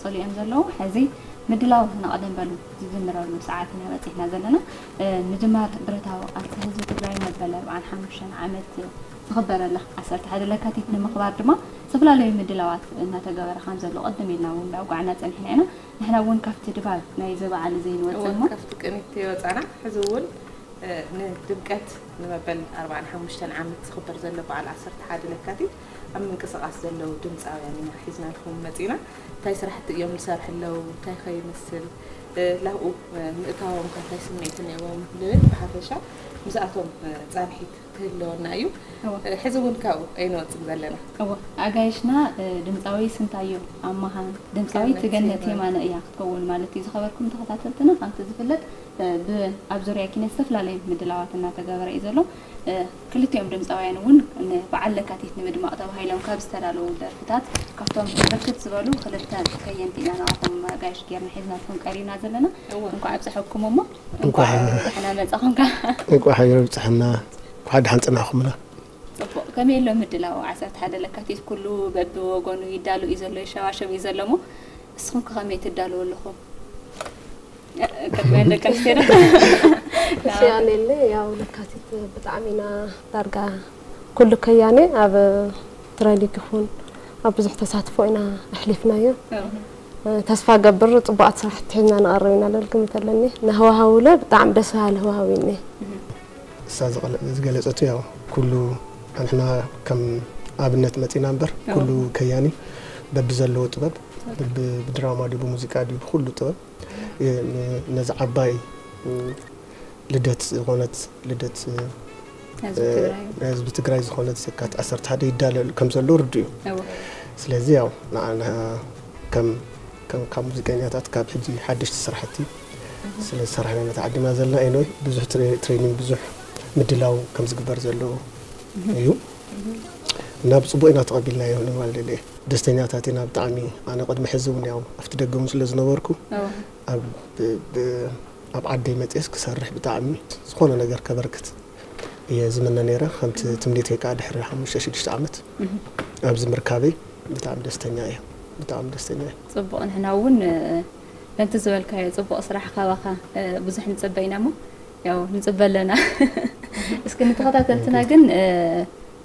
ጸሊኦም ዘለዉ። ሕዚ ምድላው ንቐደም በሉ ዝጅምረሉ ሰዓት ኢና በጺሕና ዘለና። ምጅማር ብረታዊ ቃልሲ ህዝቢ ትግራይ መበል ኣርባዓን ሓሙሽተን ዓመት ዝኽበረሉ ዓሰርተ ሓደ ለካቲት ንምኽባር ድማ ዝተፈላለዩ ምድላዋት እናተገበረ ከም ዘሎ ቅድም ኢልና እውን ዳውጓዕና ጸኒሕና ኢና። ንሕና እውን ካብቲ ድባብ ናይዚ በዓል እዚ ንወፅእ እሞ ካብቲ ቅኒት ይወፃና። ሕዚ እውን ንድምቀት ንመበል ኣርባዓን ሓሙሽተን ዓመት ዝኽበር ዘሎ በዓል ዓሰርተ ሓደ ለካቲት ኣብ ምንቅስቃስ ዘለዉ ድምፃውያን ኢና ሒዝናልኩም መፂና። እንታይ ስራሕቲ እዮም ዝሰርሑ ኣለዉ፣ እንታይ ከ ይመስል፣ ላብኡ ምእታዎም ከ እንታይ ስምዒት እኒዎም ንብል ብሓፈሻ ምስኣቶም ፃንሒት ክህልወና እዩ። ሕዚ እውን ካብኡ ኣይንወፅን ዘለና። እወ ኣጋይሽና ድምፃዊ ስንታዮ ኣማሃ ድምፃዊት ገነት የማነ እያ ክትከውን ማለት እዩ። ዝኸበርኩም ተኸታተልትና ከምቲ ዝፍለጥ ኣብ ዙርያ ኪነት ዝተፈላለዩ ምድላዋት እናተገበረ እዩ ዘሎ። ክልቲኦም ድምፃውያን እውን ንበዓል ለካቲት ንምድማቕ ተባሂሎም ካብ ዝተዳለዉ ደርፍታት ካብቶም ብርክት ዝበሉ ክልተ ከየንቲ ኢና ናባኹም ኣጋይሽ ጌርና ሒዝናልኩም ቀሪብና ዘለና። እንኳዕ ኣብፀሐኩም እሞ እንኳዕ ደሕና መፃኹምካ። እንኳዕ ሓቢሩ ኣብፀሐና። እንኳዕ ደሓን ፀናሕኩምና። ፅቡቕ ከመይ ኣሎ ምድላው ዓሰርተ ሓደ ለካቲት? ኩሉ በብወገኑ ይዳሎ እዩ ዘሎ፣ ይሸባሸብ እዩ ዘሎ እሞ ንስኹም ከ ከመይ ትዳለዉ ኣለኹም? ቅድሚያን ደቂ ኣንስትዮ ዶ? እሺ ኣኔለ ያው ለካቲት ብጣዕሚ ኢና ዳርጋ ኩሉ ከያኔ ኣብ ትሬኒንግ ይኹን ኣብ ብዙሕ ተሳትፎ ኢና ኣሕሊፍናዮ። ተስፋ ገብር ፅቡቃት ስራሕቲ ሒዝና ንቐርብ ኢና ልብል ግምት ኣለኒ። ንሃዋሃውለ ብጣዕሚ ደስ በሃሊ ሃዋሃው እዩ እኒኤ። እሳ ዝገለፀቱ ያው ኩሉ ንሕና ከም ኣብነት መፂና እምበር ኩሉ ከያኒ በብዘለዎ ጥበብ ብድራማ ድዩ ብሙዚቃ ድዩ ብኩሉ ጥበብ ነዚ ዓባይ ልደት ዝኾነት ልደት ናይ ህዝቢ ትግራይ ዝኾነት የካቲት ዓሰርተ ሓደ ይዳለል ከም ዘሎ ርዱ እዩ። ስለዚ ያው ንዓና ከም ከም ካብ ሙዚቀኛታት ካብ ሕጂ ሓደሽቲ ስራሕቲ ስለ ዝሰራሕና ኢና ተዓዲምና ዘለና። ኤንወይ ብዙሕ ትሬኒንግ ብዙሕ ምድላው ከም ዝግበር ዘሎ እዩ እና ብፅቡቅ ኢና ተቐቢልናዮ ንምባል ደልየ። ደስተኛታት ኢና ብጣዕሚ። ኣነ ቅድሚ ሕዚ እውን ያው ኣብቲ ደገ እውን ስለ ዝነበርኩ ኣብ ዓደይ መፅየስ ክሰርሕ ብጣዕሚ ዝኾነ ነገር ከበርክት እየ ዝምነ ነይረ። ከምቲ ትምኒተይ ከዓ ድሕሪ ሓሙሽተ ሽዱሽተ ዓመት ኣብዚ ምርካበይ ብጣዕሚ ደስተኛ እየ። ብጣዕሚ ደስተኛ እየ። ፅቡቕ፣ ንሕና እውን ከምቲ ዝበልካዮ ፅቡቕ ስራሕ ካባኻ ብዙሕ ንፅበ ኢና እሞ ያው ንፅበ ኣለና። እስኪ ንተኸታተልትና ግን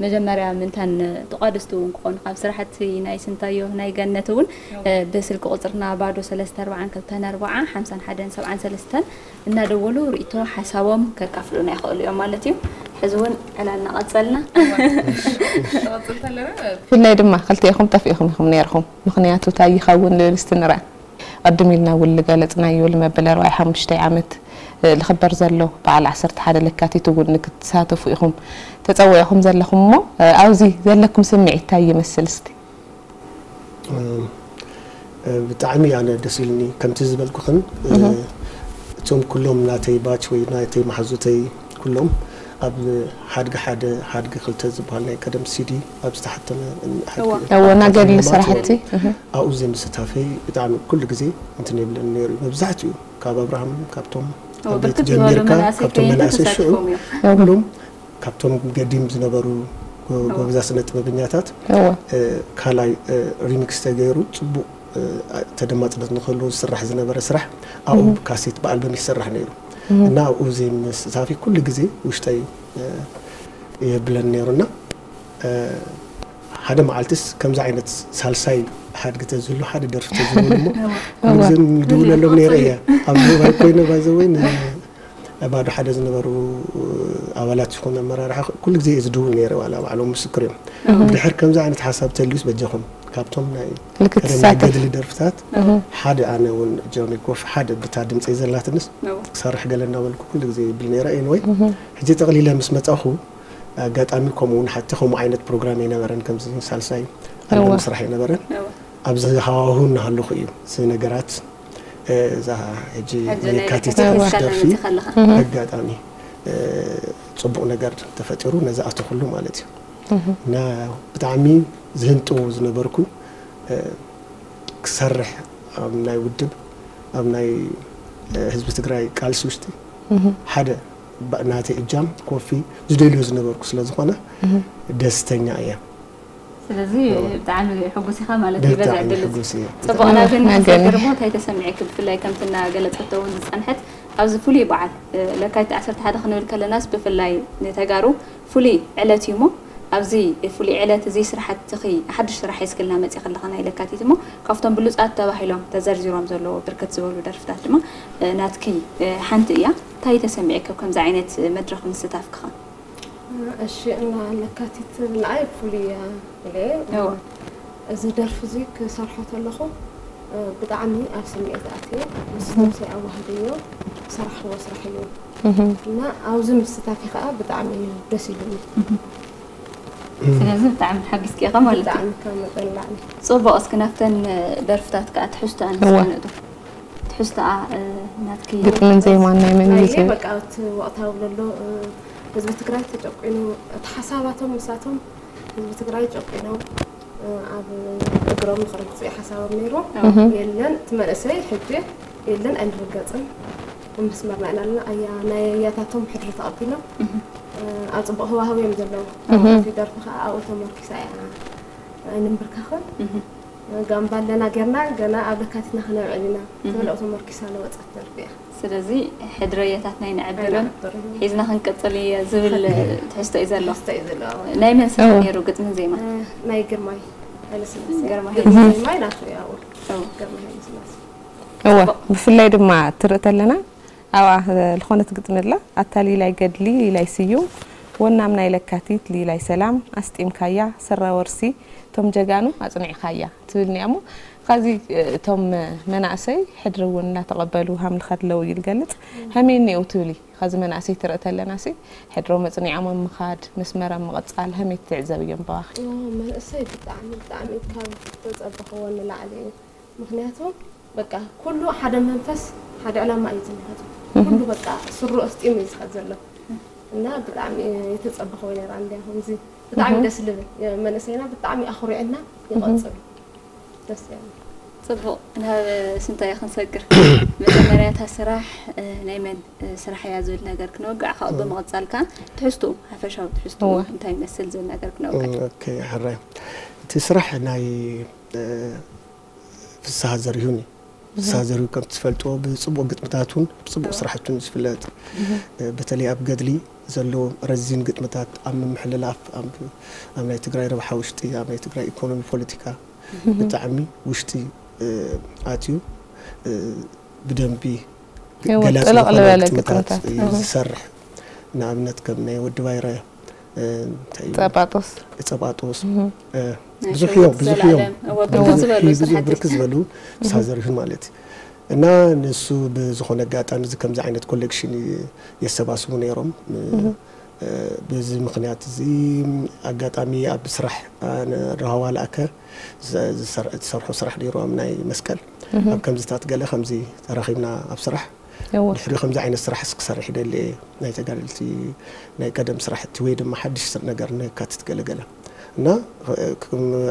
መጀመርያ ምእንታን ተቋደስቲ እውን ክኾኑ ካብ ስራሕቲ ናይ ስንታዮ ናይ ገነት እውን ብስልኪ ቁፅርና ባዶ ሰለስተ ኣርባዓን ክልተን ኣርባዓ ሓምሳን ሓደን ሰብዓን ሰለስተን እናደወሉ ርእቶ ሓሳቦም ከካፍሉና ይኽእሉ እዮም ማለት እዩ። ሕዚ እውን ዕላልና ቀፀልና። ብፍላይ ድማ ክልቲኤኹም ጠፊእኹም ኢኹም ነይርኹም። ምኽንያቱ እንታይ ይኸውን ልብል እስቲ ንርኣ። ቅድም ኢልና እውን ዝገለፅናዮ ልመበል ኣርባዓይ ሓሙሽተይ ዓመት ልኽበር ዘሎ በዓል ዓሰርተ ሓደ ለካቲት እውን ንክትሳተፉ ኢኹም ተፀዊዕኹም ዘለኹም እሞ ኣብዚ ዘለኩም ስምዒት እንታይ ይመስል እስቲ? ብጣዕሚ ኣነ ደስ ኢልኒ ከምቲ ዝበልኩኽን እቶም ኩሎም ናተይ ባች ወይ ናተይ መሓዙተይ ኩሎም ኣብ ሓድጊ ሓደ ሓድጊ ክልተ ዝበሃል ናይ ቀደም ሲዲ ኣብ ዝተሓተመ እወ ናገድሊ ስራሕቲ ኣብኡ ዘይምስታፈይ ብጣዕሚ ኩሉ ግዜ እንትን የብለኒ ነይሩ እዩ። መብዛሕትኡ ካብ ኣብርሃም ካብቶም ኣብ ቤት ጀሚርካ ካብቶም መናእሰይ ሽዑ ኩሎም ካብቶም ገዲም ዝነበሩ ጎበዛ ስነ ጥበበኛታት ካልኣይ ሪሚክስ ተገይሩ ፅቡቅ ተደማፅነት ንክህልዎ ዝስራሕ ዝነበረ ስራሕ ኣብኡ ብካሴት ብኣልበም ይሰራሕ ነይሩ እና ኣብኡ ዘይምስታፊ ኩሉ ግዜ ውሽጠይ የብለን ነይሩና ሓደ መዓልትስ ከምዚ ዓይነት ሳልሳይ ሓድጊ ተዝህሉ ሓደ ደርፊ ተዝህሉ እሞ ኩሉ ግዜ ንድውለሎም ነይረ እየ ኣብ ሞባይል ኮይነ ባይዘወይ ባዶ ሓደ ዝነበሩ ኣባላት ዝኾነ ኣመራርሓ ኩሉ ግዜ እየ ዝድውል ነይረ ዋላ ባዕሎም ምስክር እዮም ድሕር ከምዚ ዓይነት ሓሳብ ተልዩስ በጃኹም ካብቶም ናይ ቀደም ናይ ገድሊ ደርፍታት ሓደ ኣነ እውን ጆኒ ጎፍ ሓደ ብታ ድምፀይ ዘላትንስ ክሰርሕ ገለ እናበልኩ ኩሉ ግዜ ይብል ነይረ ኤንወይ ሕጂ ጠቕሊለ ምስ መፃኹ ኣጋጣሚ ከምኡ እውን ሓቲ ከምኡ ዓይነት ፕሮግራም ኣይነበረን ከምዚ ሳልሳይ ኣልበም ስራሕ ኣይነበረን ኣብዚ ሃዋሁ እናሃለኹ እዩ እዚ ነገራት እዛ ሕጂ የካቲት ደርፊ ኣጋጣሚ ፅቡቕ ነገር ተፈጢሩ ነዚ ኣተኹሉ ማለት እዩ እና ብጣዕሚ ዝህንጥው ዝነበርኩ ክሰርሕ ኣብ ናይ ውድብ ኣብ ናይ ህዝቢ ትግራይ ቃልሲ ውሽጢ ሓደ ናተይ እጃም ኮፊ ዝደልዮ ዝነበርኩ ስለ ዝኾነ ደስተኛ እየ ስለዚ ብጣዕሚ ሕጉስ ኢኻ ማለት እዩ በዛ ዕድል እዚ። ጽቡቕና ግን ንሰግር እሞ እንታይ ተሰሚዕኪ? ብፍላይ ከምቲ እናገለጸቶ እውን ዝጸንሐት ኣብዚ ፍሉይ በዓል ለካቲት ዓሰርተ ሓደ ክንብል ከለናስ ብፍላይ ንተጋሩ ፍሉይ ዕለት እዩ እሞ ኣብዚ ፍሉይ ዕለት እዚ ስራሕትኺ ሓድሽ ስራሕ ሒዝክልና መጺኺ ኣለኻ ናይ ለካቲት እሞ ካብቶም ብሉጻት ተባሂሎም ተዘርዚሮም ዘለዉ ብርክት ዝበሉ ደርፍታት ድማ ናትኪ ሓንቲ እያ። እንታይ ተሰሚዕኪ ኣብ ከምዚ ዓይነት መድረኽ ምስታፍኪ ኸ? እሺ እና ለካቲት ንዓይ ፍሉይ እያ ኢለ እዚ ደርፊ እዚ ክሰርሖ ከለኹ ብጣዕሚ ኣብ ስምዒት ኣትየ ምስ ነብሰይ ኣዋህደዮ ዝሰራሕክዎ ስራሕ እዩ እና ኣብዚ ምስታፊ ከዓ ብጣዕሚ እዩ ደስ ኢሉኒ። ስለዚ ብጣዕሚ ተሓጊዝኪ ኢኻ ማለት እዩ። ብጣዕሚ ካብ መጠን ንላዕሊ። ፅቡቕ፣ እስኪ ናብተን ደርፍታት ከዓ ትሕዝቶኣን እስኪ ንእቶ። ትሕዝቶኣ ናትኪ ግጥምን ዜማን ናይ መን እዩ? በቃ እቲ ወቕታዊ ዘሎ ህዝቢ ትግራይ ተጨቂኑ እቲ ሓሳባቶም ምሳቶም ህዝቢ ትግራይ ጨቂኖም ኣብ እግሮም ንክረግፁ እዩ ሓሳቦም ነይሩ። የለን እቲ መንእሰይ ሕጂ የለን ኣይንርገፅን መስመርና ኢና ኣለና። ኣያ ናይ ኣያታቶም ሕድሪ ተቐቢሎም ኣብ ፅቡቕ ህዋህው እዮም ዘለዉ። እቲ ደርፊ ከዓ ኣብኡ ተመርኪሳ እያ ኣይንንብርከኽን ጋምባ ኣለና ጌርና ገና ኣብ ለካቲትና ክነብዕል ኢና ትብል ኣብኡ ተመርኪሳ ለወፀት ደርፊ እያ። ስለዚ ሕድሪ ኣያታትና ኣይነዕብርን ሒዝና ክንቅፅል እየ ዝብል ትሕዝቶ እዩ ዘሎ። ናይ መን ስራሕ ነይሩ ግጥምን ዜማን? ናይ ግርማይ ሃይለስላሴ። ግርማይ ግጥምን ዜማይ ናቱ እዩ ኣብኡ። ግርማይ ሃይለስላሴ። እወ ብፍላይ ድማ ትርኢ ተለና ኣብኣ ዝኾነት ግጥሚ ኣላ ኣታ ሊላይ ገድሊ ሊላይ ስዩም ወናም ናይ ለካቲት ሊላይ ሰላም ኣስጢምካያ ሰራ ወርሲ እቶም ጀጋኑ ኣፅኒዕኻያ ትብል እኒኣ እሞ ኻዚ እቶም መናእሰይ ሕድሪ እውን እናተቐበሉ ሃምልኸ ኣለዉ እዩ ዝገልፅ። ሀመይ እኒአው ትብሊ ኻዚ መናእሰይ ትርኢ ተለና ሲ ሕድሮም ኣፅኒዖም ኣብ ምኻድ መስመር ኣብ ምቕፃል ሀመይ ትዕዘብዮም በባኺ? መንእሰይ ብጣዕሚ ብጣዕሚ ካብ ተፀበኽዎ ንላዕሊ እዩ። ምኽንያቱ በቃ ኩሉ ሓደ መንፈስ ሓደ ዕላማ እዩ ዝንሃፁ። ኩሉ በቃ ስሩ ኣስጢሙ እዩ ዝኸድ ዘሎ እና ብጣዕሚ የተፀበኽዎ ነይራ እንዲያ ከምዚ ብጣዕሚ ደስ ልብል መንእሰይና ብጣዕሚ ኣኹሪዕና ይቐፅሉ። ደስ ያለ ፅቡቕ ናብ ስንታየ ክንሰግር መጀመርያ እታ ስራሕ ናይ መን ስራሕ እያ ዝብል ነገር ክነወግዕ ካብኡ ብምቕፃል ከዓ ትሕዝትኡ ሓፈሻዊ ትሕዝትኡ እንታይ ይመስል ዝብል ነገር ክነወግዕ። ሕራይ እቲ ስራሕ ናይ ፍስሃ ዘሪሁን እዩ። ፍስሃ ዘሪሁ ከም ትፈልጥዎ ብፅቡቕ ግጥምታቱን ብፅቡቕ ስራሕቱን ዝፍለጥ በተለይ ኣብ ገድሊ ዘለዎ ረዚን ግጥምታት ኣብ ምምሕልላፍ ኣብ ናይ ትግራይ ረብሓ ውሽጢ ኣብ ናይ ትግራይ ኢኮኖሚ ፖለቲካ ብጣዕሚ ውሽጢ ኣትዩ ብደንቢ ገላፂ ዝኾነ ግጥምታት እዩ ዝሰርሕ። ንኣብነት ከም ናይ ወዲ ባይረ ጸጳጦስ ጸጳጦስ ብዙሕ እዮም ብዙሕ እዮም ብዙሕ ብርክ ዝበሉ ሳዘርህን ማለት እዩ እና ንሱ ብዝኾነ ኣጋጣሚ እዚ ከምዚ ዓይነት ኮሌክሽን የሰባስቡ ነይሮም በዚ ምክንያት እዚ ኣጋጣሚ ኣብ ስራሕ ረሃዋ ለኣከ ዝሰርሖ ስራሕ ነይሩ ኣብ ናይ መስቀል ኣብ ከምዚታት ገለ ከምዚ ተራኺብና ኣብ ስራሕ ድሕሪ ከምዚ ዓይነት ስራሕ ክሰርሕ ይደሊ እየ ናይ ተጋደልቲ ናይ ቀደም ስራሕቲ ወይ ድማ ሓድሽ ነገር ነካትት ገለገለ እና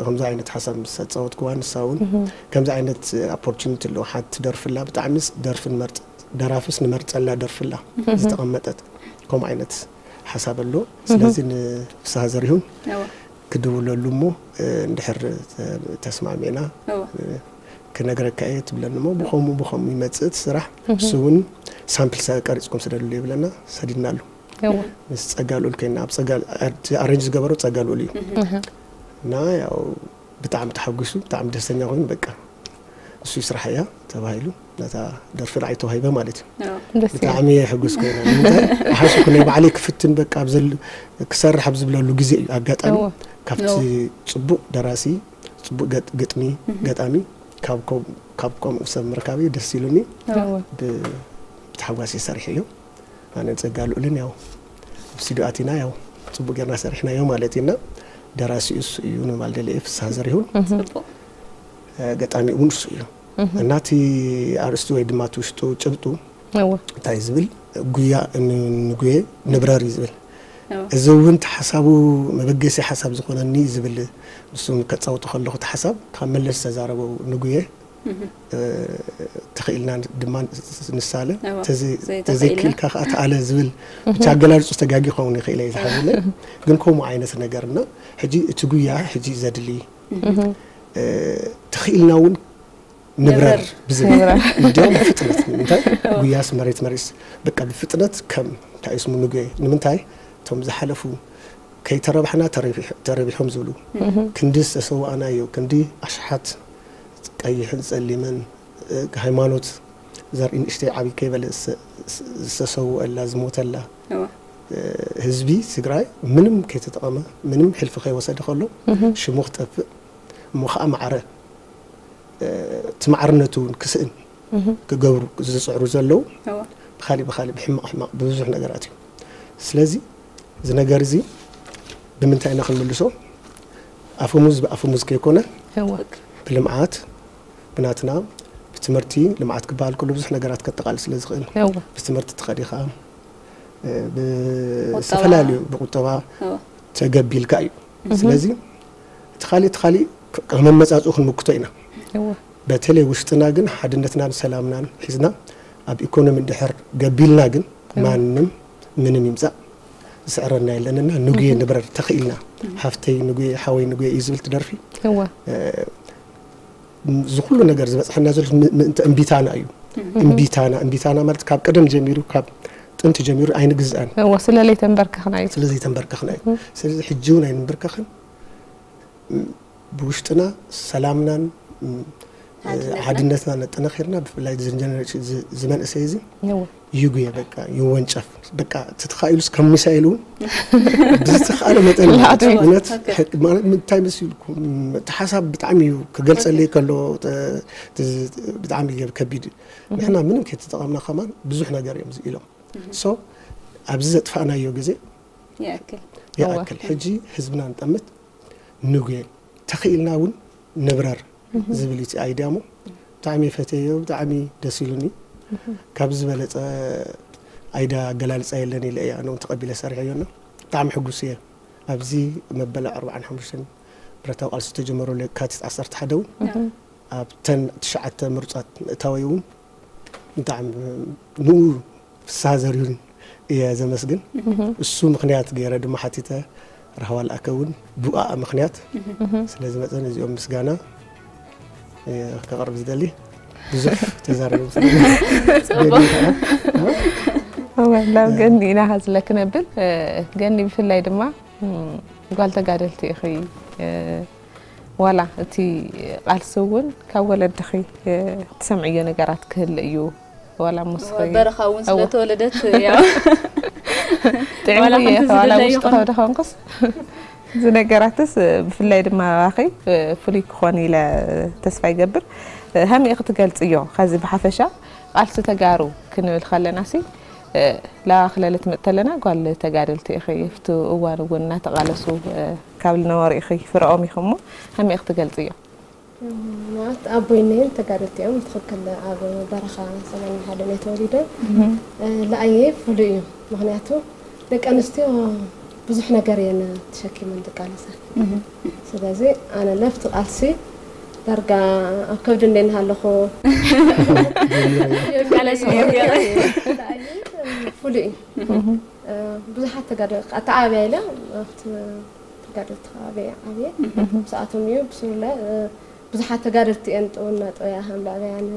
ከምዚ ዓይነት ሓሳብ ምስ ኣፃወትክዋ ንሳ እውን ከምዚ ዓይነት ኦፖርቹኒቲ ኣለዎ ሓንቲ ደርፍላ ብጣዕሚ ደርፊ ንመርፅ ደራፍስ ንመርፀላ ደርፍላ ዝተቐመጠት ከምኡ ዓይነት ሓሳብ ኣሎ ስለዚ ንፍስሃ ዘሪሁን ክድውለሉ እሞ እንድሕር ተስማሚዕና ክነግረካ እየ ትብለኒ እሞ ብኸምኡ ብኸምኡ ይመፅእ እቲ ስራሕ እሱ እውን ሳምፕል ቀሪፅኩም ስደድሉ ይብለና ሰዲድናሉ ምስ ፀጋ ልኡል ኮይና ኣብ ፀጋ ኣረንጅ ዝገበሮ ፀጋ ልኡል እዩ እና ያው ብጣዕሚ ተሓጒሱ ብጣዕሚ ደስተኛ ኮይኑ በቃ እሱ ስራሕ እያ ተባሂሉ ነታ ደርፊ ንዓይ ተዋሂበ ማለት እዩ ብጣዕሚ ሕጉስ ኮይነ ሓሱኩ ናይ ባዕለይ ክፍትን በቃ ክሰርሕ ኣብ ዝብለሉ ግዜ እዩ ኣጋጣሚ ካብቲ ፅቡቅ ደራሲ ፅቡቅ ግጥሚ ገጣሚ ካብ ከምኡ ሰብ ምርካበይ ደስ ኢሉኒ ብተሓጓስ ይሰርሕ እዩ ኣነ ፀጋ ልኡልን ያው ኣብ ስቱዲዮ ኣቲና ያው ፅቡቅ ጌርና ሰሪሕናዮ ማለት እዩ እና ደራሲኡ እሱ እዩ ንባልደልኤ ፍስሃ ዘሪሁን ገጣሚኡ እውን እሱ እዩ እና እቲ ኣርእስቲ ወይ ድማ እቲ ውሽጡ ጭብጡ እንታይ ዝብል ጉያ ንጉየ ንብረር እዩ ዝብል እዚ እውን እቲ ሓሳቡ መበገሲ ሓሳብ ዝኾነኒ ዝብል ንሱ ከፃውቶ ከለኹ እቲ ሓሳብ ካብ መለስ ዝተዛረበው ንጉየ ተኽኢልና ድማ ንሳለ፣ ተዘይክኢልካ ከዓ ተኣለ ዝብል ብቻ ኣገላልጹ ተጋጊ ክኸውን ይኽእል እየ ዝሓዝለ። ግን ከምኡ ዓይነት ነገር እና ሕጂ እቲ ጉያ ሕጂ ዘድሊ ተኽኢልና እውን ንብረር ብዝብል እንዲያውም ብፍጥነት እንታይ ጉያስ መሬት መሬስ በቃ ብፍጥነት ከም እንታይ ስሙ ንጉየ ንምንታይ እቶም ዝሓለፉ ከይተረባሕና ተረቢሖም ዝብሉ ክንዲ ዝተሰዋእናዮ ክንዲ ኣሽሓት ቀይሕን ጸሊምን ሃይማኖት ዘርኢ ንእሽተይ ዓብይ ከይበለ ዝተሰውአላ ዝሞተላ ህዝቢ ትግራይ ምንም ከይተጠቐመ ምንም ሕልፊ ከይወሰደ ከሎ ሽሙ ክጠፍእ እሞ ከዓ ማዕረ እቲ ማዕርነቱ እውን ክስእን ክገብሩ ዝፅዕሩ ዘለዉ ብካሊእ ብካሊእ ብሕማቕ ሕማቕ ብብዙሕ ነገራት እዩ። ስለዚ እዚ ነገር እዚ ብምንታይ ኢና ክንምልሶ? ኣፈሙዝ ብኣፈሙዝ ከይኮነ ብልምዓት ብናትና ብትምህርቲ ልምዓት ክበሃል ከሎ ብዙሕ ነገራት ከጠቓልል ስለ ዝኽእል ብትምህርቲ ትኸዲ ከዓ ብዝተፈላለዩ ብቁጠባ ተገቢልካ እዩ። ስለዚ እቲ ካሊእ እቲ ካሊእ ከመመፃፅኡ ክንምክቶ ኢና። በተለይ ውሽጥና ግን ሓድነትናን ሰላምናን ሒዝና ኣብ ኢኮኖሚ እንድሕር ገቢልና ግን ማንም ምንም ይምፃእ ዝስዕረና የለንና። ንጉየ ንብረር ተኽኢልና ሓፍተይ ንጉየ ሓወይ ንጉየ እዩ ዝብል ትደርፊ እዚ ኩሉ ነገር ዝበፅሐና ዘሎ ምእንቲ እምቢታና እዩ። እምቢታና እምቢታና ማለት ካብ ቀደም ጀሚሩ ካብ ጥንቲ ጀሚሩ ኣይንግዝኣን። እወ ስለለይ ተንበርከኽና እዩ። ስለዘይ ተንበርከኽና እዩ። ስለዚ ሕጂ እውን ኣይንንበርከኽን። ብውሽጥና ሰላምናን ሓድነትና ነጠናኺርና ብፍላይ ዝመንእሰይ እዚ ይጉየ በቃ ይወንጨፍ በቃ ተተኻኢሉስ ከም ሚሳኤል እውን ብዝተኻእለ መጠን እውነት ማለት እንታይ መሲልኩም እቲ ሓሳብ ብጣዕሚ እዩ ክገልፀለይ ከሎ ብጣዕሚ ከቢድ እዩ። ንሕና ምንም ከይተጠቐምና ከማን ብዙሕ ነገር እዮም ኢሎም ሶ ኣብዚ ዘጥፋእናዮ ግዜ ይኣክል ሕጂ ህዝብና ንጠምት ንጉየ ተኽኢልና እውን ንብረር ዝብል እቲ ኣይድያ ሞ ብጣዕሚ ፈተዮ ብጣዕሚ ደስ ኢሉኒ ካብ ዝበለፀ ኣይዳ ኣገላልፃ የለን ኢለ እየ ኣነ እውን ተቐቢለ ሰሪሐዮ እና ብጣዕሚ ሕጉስ እየ ኣብዚ መበል ኣርባዓን ሓሙሽተን ብረታዊ ቃልሲ ዝተጀመረሉ የካቲት ዓሰርተ ሓደ እውን ኣብተን ትሽዓተ ምሩፃት ምእታወይ እውን ብጣዕሚ ንኡ ፍስሃ ዘርሁን እየ ዘመስግን። እሱ ምኽንያት ገይረ ድማ ሓቲተ ራህዋ ልኣከ እውን ብኣኣ ምኽንያት ስለ ዝመፀ ነዚኦም ምስጋና ከቕርብ ዝደሊ ብዙሕ ተዛረበ ናብ ገኒ ኢና ሃዝለ ክነብል ገኒ ብፍላይ ድማ ጓል ተጋደልቲ ኢኺ ዋላ እቲ ቃልሲ እውን ካብ ወለድኺ ትሰምዕዮ ነገራት ክህል እዩ ዋላ ሙስኺ በረኻ እውን ስለተወለደት ያው ጥዕምየ ዋላ ውሽጢ ከብዲ ከንኩስ እዚ ነገራትስ ብፍላይ ድማ ባኺ ፍሉይ ክኾን ኢለ ተስፋ ይገብር። ሃመይ ክትገልጽዮ ከዚ ብሓፈሻ ቃልሲ ተጋሩ ክንብል ከለና ሲ ላባ ክለለ ትመጥ ተለና ጓል ተጋደልቲ ኢኺ ኣብቲ እዋን እውን እናተቓለሱ ካብ ዝነበሩ ኢኺ ፍረኦም ኢኺ እሞ ሃመይ ክትገልጽዮ? ማለት ኣቦይ እነየን ተጋደልቲ እዮም ብትኽክል ኣብ በረኻ ሰማንያ ሓደ እዮም ተወሊዶም። ለኣየይ ፍሉይ እዩ ምኽንያቱ ደቂ ኣንስትዮ ብዙሕ ነገር እየን ተሸኪመን ዝቃለሳ። ስለዚ ኣነ ለፍቲ ቃልሲ ዳርጋ ኣብ ከብዲ እንደ እናሃለኹ ፍሉይ እዩ። ብዙሓት ተጋደ ኣተዓብያ ኢለ ኣብቲ ተጋደልቲ ከባቢ ዓብየ ምስኣቶም እዩ ብስሩለ ብዙሓት ተጋደልቲ እየን ጥውና ጥውያ ከም ለዕበያን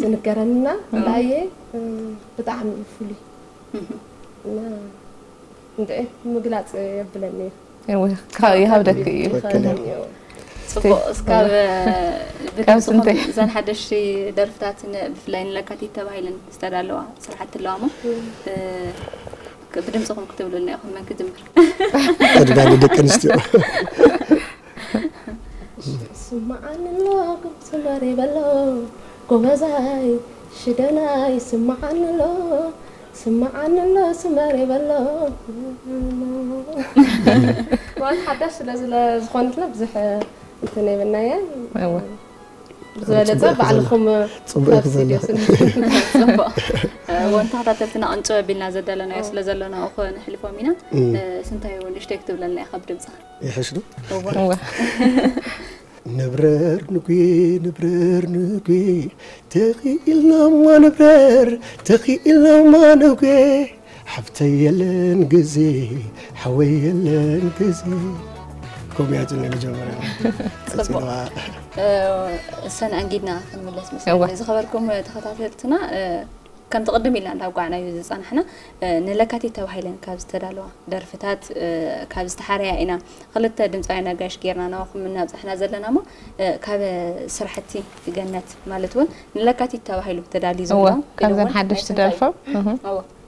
ዝንገረንና ለኣየ ብጣዕሚ እዩ ፍሉይ እና እንድዒ ምግላፅ የብለኒ እዩ ይሃብደኪ እዩ ጽቡቅ እስካብ ብድምፅኹም እዘን ሓደሽቲ ደርፍታት ብፍላይ ንለካቲት ተባሂለን ዝተዳለዋ ስራሕቲ ኣለዋ ሞ ብድምፅኹም ክትብሉልና ኢኹም መን ክጅምር ቅድሚያ ንደቂ ኣንስትዮ ስማዓኒ ኣሎ ስመር ይበሎ ጎበዛይ ሽደናይ ስማዓኒ ኣሎ ስማዓኒ ኣሎ ስመር ይበሎ ማለት ሓዳሽ ስለ ዝኾነትና ብዙሕ እንትን የብልናየ ዝበለፀ ባዕልኹም ፅቡቅ ወንተኸታተልትና ቅንጭብ ኣቢልና ዘዳለናዮ ስለ ዘለና እኮ ንሕልፎም ኢና ስንታይ እውን ንእሽተይ ክትብለልና ኢኻ ብድምፅኻ ይሕሽ ዶ? እወ። እወ። ንብረር ንጉ ንብረር ንጉ ተኽኢልናማ ንብረር ተኽኢልናማ ንጉ ሓፍተይ የለን ግዜ ሓወይ የለን ግዜ። ኮምያቱ ናይ መጀመርያ ጽቡቕ። ሰን ኣንጊድና ክንምለስ መሰለኒ። ዝኸበርኩም ተኸታተልትና፣ ከምቲ ቅድም ኢልና እንዳጓዕናዮ ዝጸናሕና፣ ንለካቲት ተባሂለን ካብ ዝተዳለዋ ደርፍታት ካብ ዝተሓረያ ኢና ክልተ ድምፃውያን ኣጋይሽ ጌርና ናባኹም እናብጻሕና ዘለና። እሞ ካብ ስራሕቲ ገነት ማለት እውን ንለካቲት ተባሂሉ ተዳልዩ ዘሎ ካብዘን ሓደሽቲ ደርፎም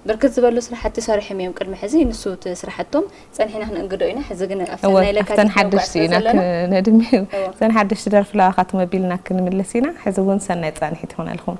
ብርክት ዝበሉ ስራሕቲ ሰሪሖም እዮም ቅድሚ ሕዚ። ንሱ እቲ ስራሕቶም ጸኒሕና ክንእንግዶ ኢና። ሕዚ ግን ኣብተን ናይ ለካቲት ሓደሽቲ ኢና ክንድሚ። እተን ሓደሽቲ ደርፊ ለዋኻት መቢልና ክንምልስ ኢና። ሕዚ እውን ሰናይ ጻንሒት ይኾነልኩም።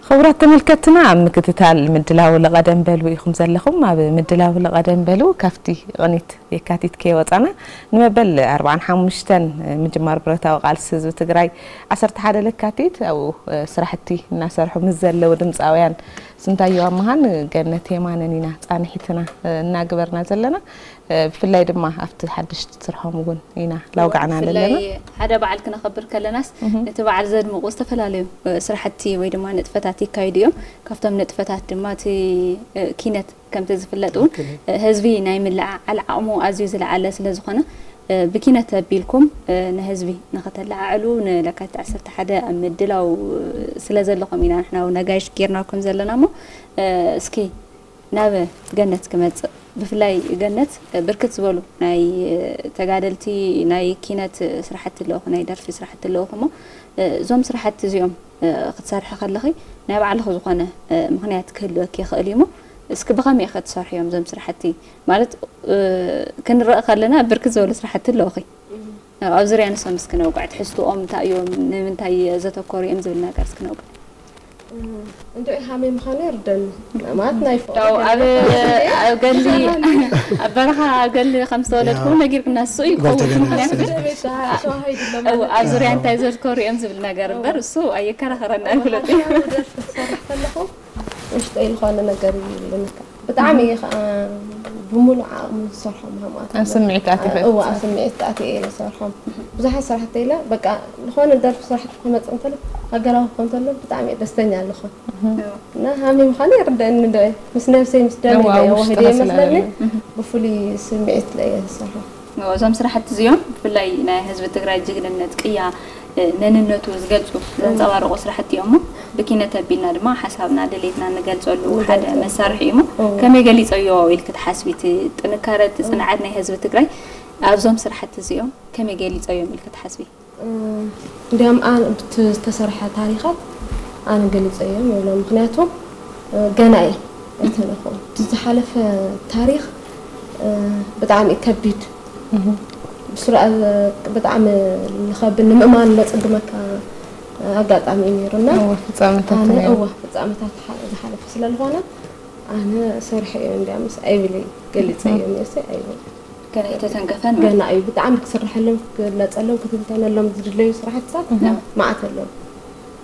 ክቡራት ተመልከትና ኣብ ምክትታል ምድላው ለቐደም በሉ ኢኹም ዘለኹም። ኣብ ምድላው ለቐደም በሉ ካብቲ ቅኒት የካቲት ከይወፃና ንመበል ኣርባዓን ሓሙሽተን ምጅማር ብረታዊ ቃልሲ ህዝቢ ትግራይ ዓሰርተ ሓደ ለካቲት ኣብኡ ስራሕቲ እናሰርሑ ምስ ዘለዉ ድምፃውያን ስንታየው ኣማሃን ገነት የማነን ኢና ፃንሒትና እናግበርና ዘለና። ብፍላይ ድማ ኣብቲ ሓድሽ ስርሖም እውን ኢና ላውጋዕና ኣለና። ሓደ በዓል ክነኸብር ከለናስ ነቲ በዓል ዘድምቑ ዝተፈላለዩ ስራሕቲ ወይ ድማ ንጥፈታት ይካይዱ እዮም። ካብቶም ንጥፈታት ድማ እቲ ኪነት ከምቲ ዝፍለጥ እውን ህዝቢ ናይ ምልዕዓል ዓቕሙ ኣዝዩ ዝለዓለ ስለ ዝኾነ ብኪነት ኣቢልኩም ንህዝቢ ንኸተለዓዕሉ ንለካቲት ዓሰርተ ሓደ ኣብ ምድላው ስለ ዘለኹም ኢና ንሕና እውን ኣጋይሽ ጌርናኩም ዘለና። እሞ እስኪ ናብ ገነት ክመጽእ። ብፍላይ ገነት ብርክት ዝበሉ ናይ ተጋደልቲ ናይ ኪነት ስራሕቲ ኣለኹ፣ ናይ ደርፊ ስራሕቲ ኣለኹ። እሞ እዞም ስራሕቲ እዚኦም እ፣ ክትሰርሒ ከለኺ ናይ ባዕልኺ ዝኾነ፣ እ፣ ምኽንያት ክህልወኪ ይኽእል እዩ እሞ፣ እስኪ ብኸመይ ኢኺ ትሰርሕዮም እዞም ስራሕቲ? ማለት፣ እ፣ ክንረእ ከለና ብርክት ዝበሉ ስራሕቲ ኣለውኺ። ኣብ ዙርያ ንሶም እስኪ ነውግዕ፣ ትሕዝትኦም እንታይ እዮም፣ ንምንታይ ዘተኮሩ እዮም ዝብል ነገር እስኪ ነውግዕ። እንድዒ ሃመይ ምዃኑ ይርደኒ። ማለት ናይ ፍቕሪ ያው ኣብ ገለ ኣብ ገሊ ኣብ በረኻ ኣብ ገሊ ከም ዝተወለድኩ ያው ነጊርክና፣ እሱ እዩ ክኸውን። ጓልተገና ምኽንያቱ ግን ቤት ተባሃለ እው፣ ኣብ ዙርያ እንታይ ዘትኮሩ እዮም ዝብል ነገር እምበር እሱ ኣየከራኸረና ኣይፍለጥ እዩ። ደርፊ ክሰርሕ ከለኹ ውሽጠይ ዝኾነ ነገር ይብለካ። ብጣዕሚ እየ ከዓ ብምሉእ ዓቕሚ ዝሰርሖ ምህማት ኣብ ስምዒት ኣቲኺ እዋ ኣብ ስምዒት ኣትየ እየ ዝሰርሖም። ብዙሓት ስራሕቲ ኢለ በቃ ዝኾነ ደርፊ ስራሕቲ ክመፅእ እንተሎ ሃገራዊ ክኾን እንተሎ ብጣዕሚ እየ ደስተኛ ኣለኹ። እና ሃሚ ምዃኑ ይርደአኒ እንዶ ምስ ነብሰይ ምስ ደመይ እዋ፣ እየ ውሽጥኻ ወሂደ ስለ ይመስለኒ ዘለኒ። ብፍሉይ ስምዒት እየ ዝሰርሖ። እዞም ስራሕቲ እዚኦም ብፍላይ ናይ ህዝቢ ትግራይ ጅግንነት፣ ቅያ፣ እ፣ መንነቱ ዝገልፁ ዘንፀባርቑ ስራሕቲ እዮም እሞ ብኪነት ኣቢልና ድማ ሓሳብና ድሌትና ንገልፀሉ ሓደ ንገልፀሉ። መሳርሒ እዩ እሞ እዎ። ከመይ ገሊፀዮ ኢልክ ትሓስቢ? እቲ ጥንካረ፣ እቲ ፅንዓት ናይ ህዝቢ ትግራይ ኣብዞም ስራሕቲ እዚኦም ከመይ ገሊፀዮም ኢልክ ትሓስቢ? እንዲያም ኣነ ብቲ ዝተሰርሐ ታሪኻት ኣነ ገሊፀ እዮም ይብሎ። ምክንያቱ ገና እየ ኣይተለኹም። እቲ ዝሓለፈ ታሪኽ ብጣዕሚ እዩ ከቢድ። ብስሩ ብጣዕሚ ዝኸብድ ንምእማን ዘፀግመካ ኣጋጣሚ እዩ ነይሩና። እወ፣ ፍጻመታት ኣነ ነይሩ። እወ ፍጻመታት ዝሓ- ዝሓለፈ ስለ ዝኾነ ኣነ ሰሪሐ እየ እንዲያምስ ኣይብል እየ ገሊፀ እዮም እየሲ ኣይብል ገና ኣይተተንከፈን ማለት ገና እዩ ብጣዕሚ ክስርሐሎም ክግለፀሎም ክትንተነሎም ዝድለዩ ስራሕትታት ነው። መዓት ኣለዉ።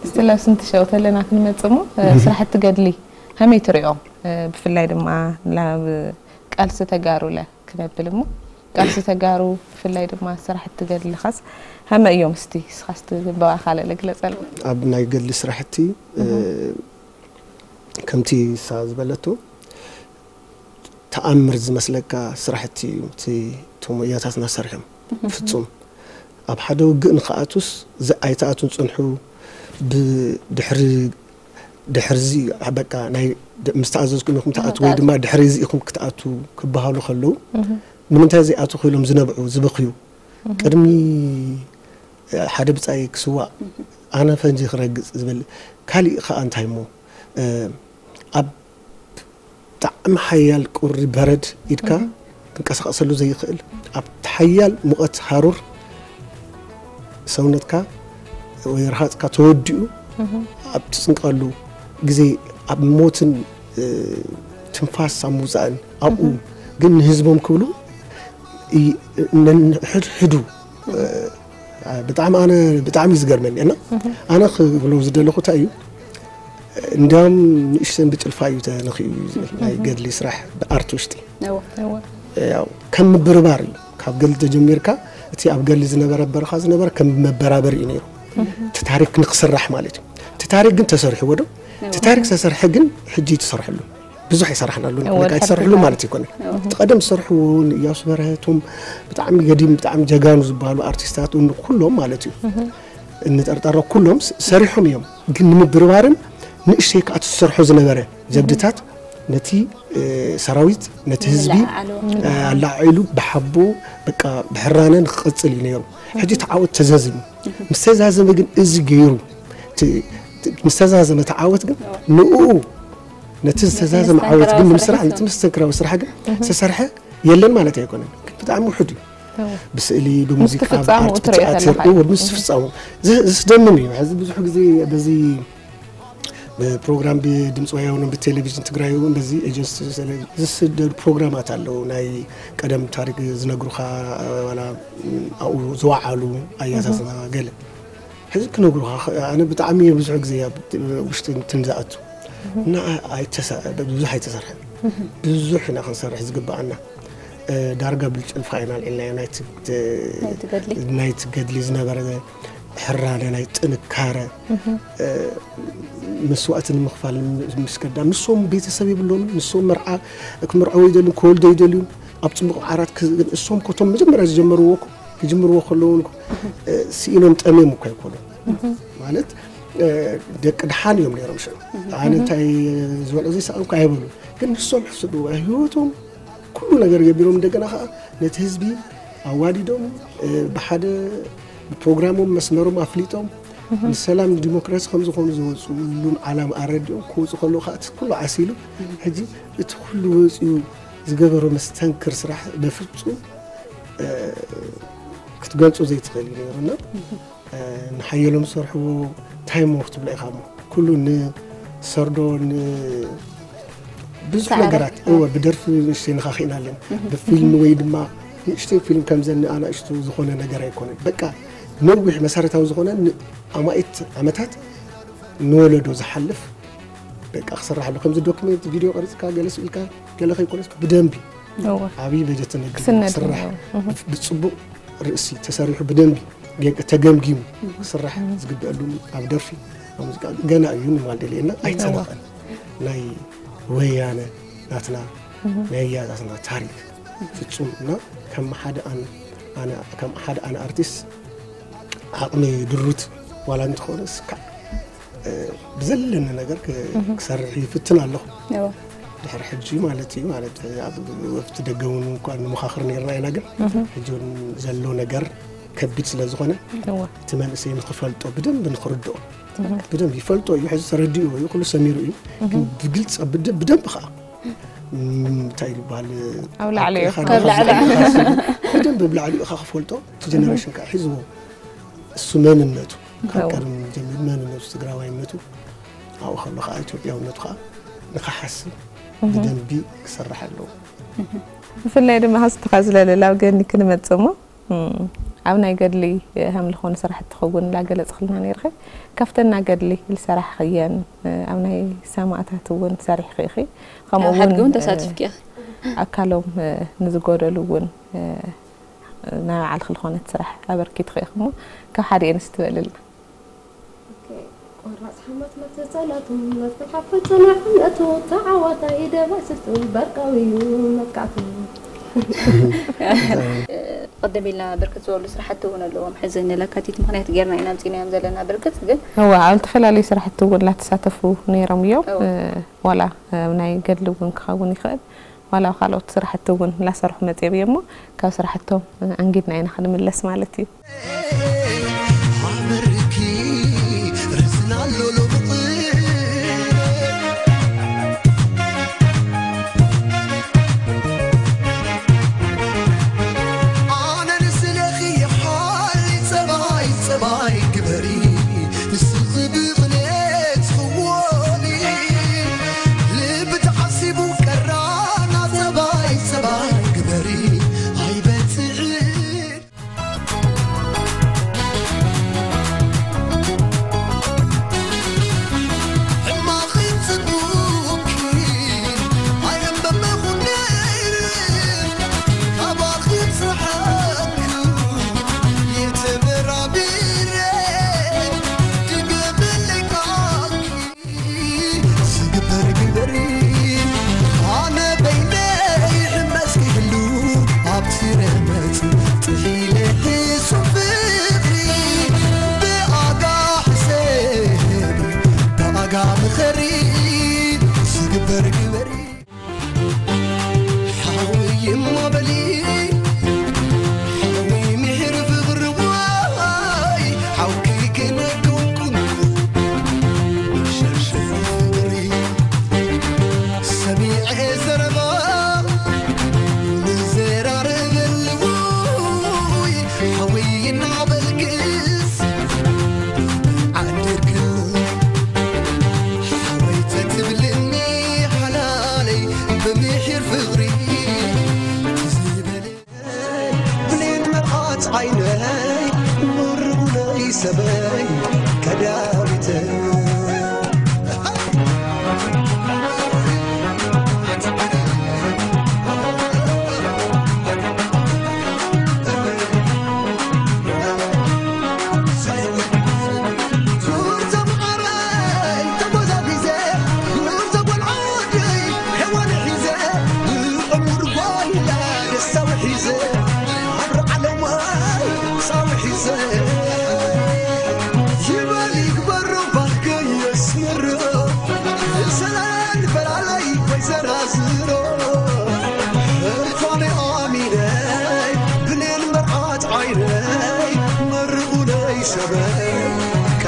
እስቲ ላብ ስንቲ ሸው ተለና ክንመጽእ እሞ፣ እ፣ ስራሕቲ ገድሊ ከመይ ትሪኦ? እ፣ ብፍላይ ድማ ናብ ቃልሲ ተጋሩ ለ ክነብል እሞ፣ ቃልሲ ተጋሩ ብፍላይ ድማ ስራሕቲ ገድልኻስ ከመይ እዮም? እስቲ እስኻስ ትግበኣ ካልእ ልግለጸሉ። ኣብ ናይ ገድሊ ስራሕቲ እ፣ ከምቲ እሳ ዝበለቶ ተኣምር ዝመስለካ ስራሕቲ እዩ እቲ እቶም ወያታትና ሰሪሖም ፍጹም ኣብ ሓደ ውግእ ንክኣቱስ ዝ- ኣይተኣቱን ጽንሑ ብድሕሪ ድሕርዚ በቃ ናይ ድ- ምስ ተኣዘዝኩም ኢኹም ትኣትዉ ወይ ድማ ድሕሪ እዚ ኢኹም ክትኣትዉ ክበሃሉ ከለዉ ንምንታይ ዘይኣትኹ ኢሎም ዝነብዑ ዝበኽዩ ቅድሚ ሓደ ብጻይ ክስዋእ ኣነ ፈንጂ ክረግጽ ዝብል ካሊእ ከኣ እንታይ እሞ ኣብ ብጣዕሚ ሓያል ቁሪ በረድ ኢድካ ክንቀሳቐሰሉ ዘይኽእል ኣብቲ ሓያል ሙቐት ሃሩር ሰውነትካ ወይ ረሃፅካ ተወዲኡ ኣብ ትፅንቀሉ ግዜ ኣብ ሞትን ትንፋስ ኣብ ምውፃእን ኣብኡ ግን ንህዝቦም ክብሉ ሕድሕዱ ብጣዕሚ ኣነ ብጣዕሚ እዩ ዝገርመኒ እና ኣነ ክብሎ ዝደለኹ እንታይ እዩ እንዲያውም ንእሽተን ብጭልፋ እዩ ተነኺኡ እዩ ዝብል ናይ ገድሊ ስራሕ ብኣርት ውሽጢ ያው ከም ምብርባር እዩ ካብ ገድሊ ተጀሚርካ እቲ ኣብ ገድሊ ዝነበረ በረኻ ዝነበረ ከም መበራበር እዩ ነይሩ እቲ ታሪክ ንክስራሕ ማለት እዩ እቲ ታሪክ ግን ተሰሪሕዎ ዶ እቲ ታሪክ ተሰርሐ ግን ሕጂ ተሰርሐሉ ብዙሕ ይሰራሕናሉ እወ፣ ኣይተሰርሕሉ ሓቂኻ። ማለት ይኮነ እቲ ቀደም ዝሰርሕዎ ንእያሱ በረሀቶም ብጣዕሚ ገዲም ብጣዕሚ ጀጋኑ ዝበሃሉ ኣርቲስታት እውን ኩሎም ማለት እዩ እንጠርጠሮ ኩሎም ስ- ሰሪሖም እዮም ግን ንምብርባርን ንእሽተይ ከዓ ዝሰርሖ ዝነበረ ጀብድታት ነቲ እ፣ ሰራዊት ነቲ ህዝቢ ንለዓዓሉ። እ፣ ኣላዒሉ ብሓቦ በቃ ብሕራነ ንክቐፅል እዩ ነይሩ ሕጂ ተዓወት ተዛዝም ምስ ተዛዘመ ግን እዚ ገይሩ ቲ- ቲ- ምስ ተዛዘመ ተዓወት ግን ንኡ ነቲ ዝተዛዘመ ዓወት ግን ንምስራሕ ነቲ መስተንክራዊ ስራሕ ግን ዝተሰርሐ የለን ማለት ኣይኮነን ግን ብጣዕሚ ውሕድ እዩ ብስእሊ ብሙዚቃ ፍጻመኡ ብኣርት ትሪኦ ብትኣትር ከለኻ እዩ። እዎ፣ ምስ ፍጻሙ ዘ- ዘስደምም እዩ ሕዚ ብዙሕ ግዜ በዚ ብፕሮግራም ብድምፂ ወያነ ብቴሌቪዥን ትግራይ እውን በዚ ኤጀንሲ ዝስደዱ ፕሮግራማት ኣለዉ ናይ ቀደም ታሪክ ዝነግሩካ ዋላ ኣብኡ ዝወዓሉ ኣያታትና ገለ ሕዚ ክነግሩኻ ኣነ ብጣዕሚ ብዙሕ ግዜ ኣብ ውሽጢ እንትን ዝኣቱ እና ኣይተሰ- ብዙሕ ኣይተሰርሐ ብዙሕ ኢና ክንሰርሕ ዝግበኣና እ፣ ዳርጋ ብልጭልፋ ኢና ኣልዒልናዮ ናይቲ እ፣ ናይቲ ገድሊ። ናይቲ ገድሊ ዝነበረ ሕራነ ናይ ጥንካረ እ፣ መስዋእቲ ንምኽፋል ምስ ገዳም ንሶም ቤተሰብ የብሎምን ንሶም መርዓ ክምርዐው ይደልዩን ክወልዶ ይደልዩን ኣብ ፅቡቕ ዓራት ክ- እሶም ኮቶም መጀመርያ ዝጀመርዎ እኮ ክጅምርዎ ከለዉ እኮ እ፣ ስኢኖም ጠምዮም እኮ ኣይኮኑን ማለት እ፣ ደቂ ድሓን እዮም ነይሮም ሽዑ ኣነ እንታይ ዝበልዑ ዘይሰኣንኩ ኣይበሉ ግን ንሶም ሕስብዎ ህይወቶም ኩሉ ነገር ገቢሮም እንደገና ከዓ ነቲ ህዝቢ ኣዋዲዶም እ፣ ብሓደ ብፕሮግራሞም መስመሮም ኣፍሊጦም ንሰላም ንዲሞክራሲ ከምዚ ከምዚ ዝወፅኡሉን ዓላማ ኣረዲኦም ክወፁ ከለዉ ከዓ እቲ ኩሉ ዓሲሉ ሕጂ እቲ ኩሉ ወፂኡ ዝገበሮ መስተንክር ስራሕ በፍፁም ክትገልፁ ዘይትኽእል እዩ ነይሩና። ንሓየሎም ዝሰርሕዎ ታይም ወክ ትብሎ ኢኻ እሞ ኩሉ ንሰርዶ ብዙሕ ነገራት እወ ብደርፊ ንእሽተይ ንኻኺእና ኣለና ብፊልም ወይ ድማ ንእሽተይ ፊልም ከምዘን ኣናእሽቱ ዝኾነ ነገር ኣይኮነን። በቃ ነዊሕ መሰረታዊ ዝኾነ ኣማኢት ዓመታት ንወለዶ ዝሓልፍ በቃ ክስራሕ ኣሎ። ከምዚ ዶክመንት ቪድዮ ቀሪፅካ ገለ ስኢልካ ገለ ከይኮነስ ብደንቢ ዓብዪ በጀት ተመዲቡ ክስራሕ ብፅቡቕ ርእሲ ተሰሪሑ ብደንቢ ተገምጊሙ ክስራሕ ዝግበአሉ ኣብ ደርፊ ኣብ ሙዚቃ ገና እዩ ንማል ደልየና ኣይተነቐን ናይ ወያነ ናትና ናይ ኣያታትና ታሪክ ፍፁም እና ከም ሓደ ኣነ ኣነ ከም ሓደ ኣነ ኣርቲስት ዓቕሚ ድሩት ዋላ እንተኾነ እስካ ብዘለኒ ነገር ክሰርሕ ይፍትን ኣለኹ። ድሕሪ ሕጂ ማለት እዩ ማለት ኣብቲ ደገ እውን እኳ ንመኻኽር ነርና ኢና ግን ሕጂ እውን ዘሎ ነገር ከቢድ ስለ ዝኾነ እቲ መንእሰይ ንክፈልጦ ብደንብ ንክርድኦ ብደንብ ይፈልጦ እዩ ሕዚ ተረዲኡ እዩ ኩሉ ሰሚሩ እዩ ግን ብግልፂ ብደንብ ከዓ እንታይ ይበሃል ኣብ ላዕሊ እዩ። ብደንብ ብላዕሊ ኢኻ ክፈልጦ እቲ ጀነሬሽን ከዓ ሒዝዎ እሱ መንነቱ ካብ ቀደም ጀሚሩ መንነቱ ትግራዋይነቱ ኣብኡ ከሎ ከዓ ኢትዮጵያውነቱ ከዓ ንክሓስብ ብደንቢ ክሰርሕ ኣለዎ። ብፍላይ ድማ ሃስቱካ ዝለለላው ገኒ ክንመፅእ እሞ ኣብ ናይ ገድሊ ሃምልኾን ስራሕቲ ከውን ላገለፅክልና ነይርኸ ካብተና ገድሊ ልሰራሕኽየን ኣብ ናይ ሰማእታት እውን ሰሪሕኺ ኢኺ ከምኡ እውን ተሳትፍኪ ኣካሎም ንዝጎደሉ እውን ናይ ባዕልኺ ዝኾነት ስራሕ ኣበርኪትኺ ኢኺ እሞ ካብ ሓደ የንስ ትበልልና ቆራፅ ሓማት መትፀላቱ መፍትሓ ፈፀና እምነቱ ተዓዋታይ ደባይ ስልቱ በርቃዊ እዩ መጥቃዕቱ ቅድም ኢልና ብርክት ዝበሉ ስራሕቲ እውን ኣለዎም ሕዚ ንለካቲት ምክንያት ጌርና ኢና ኣምፂናዮም ዘለና ብርግፅ ግን እዋ ኣብ ዝተፈላለዩ ስራሕቲ እውን ላተሳተፉ ነይሮም እዮም ዋላ ናይ ገድሊ እውን ክኸውን ይኽእል ዋላ ካልኦት ስራሕቲ እውን ላሰርሑ መፅኦም እዮም እሞ ካብ ስራሕቶም ኣንጊድና ኢና ክንምለስ ማለት እዩ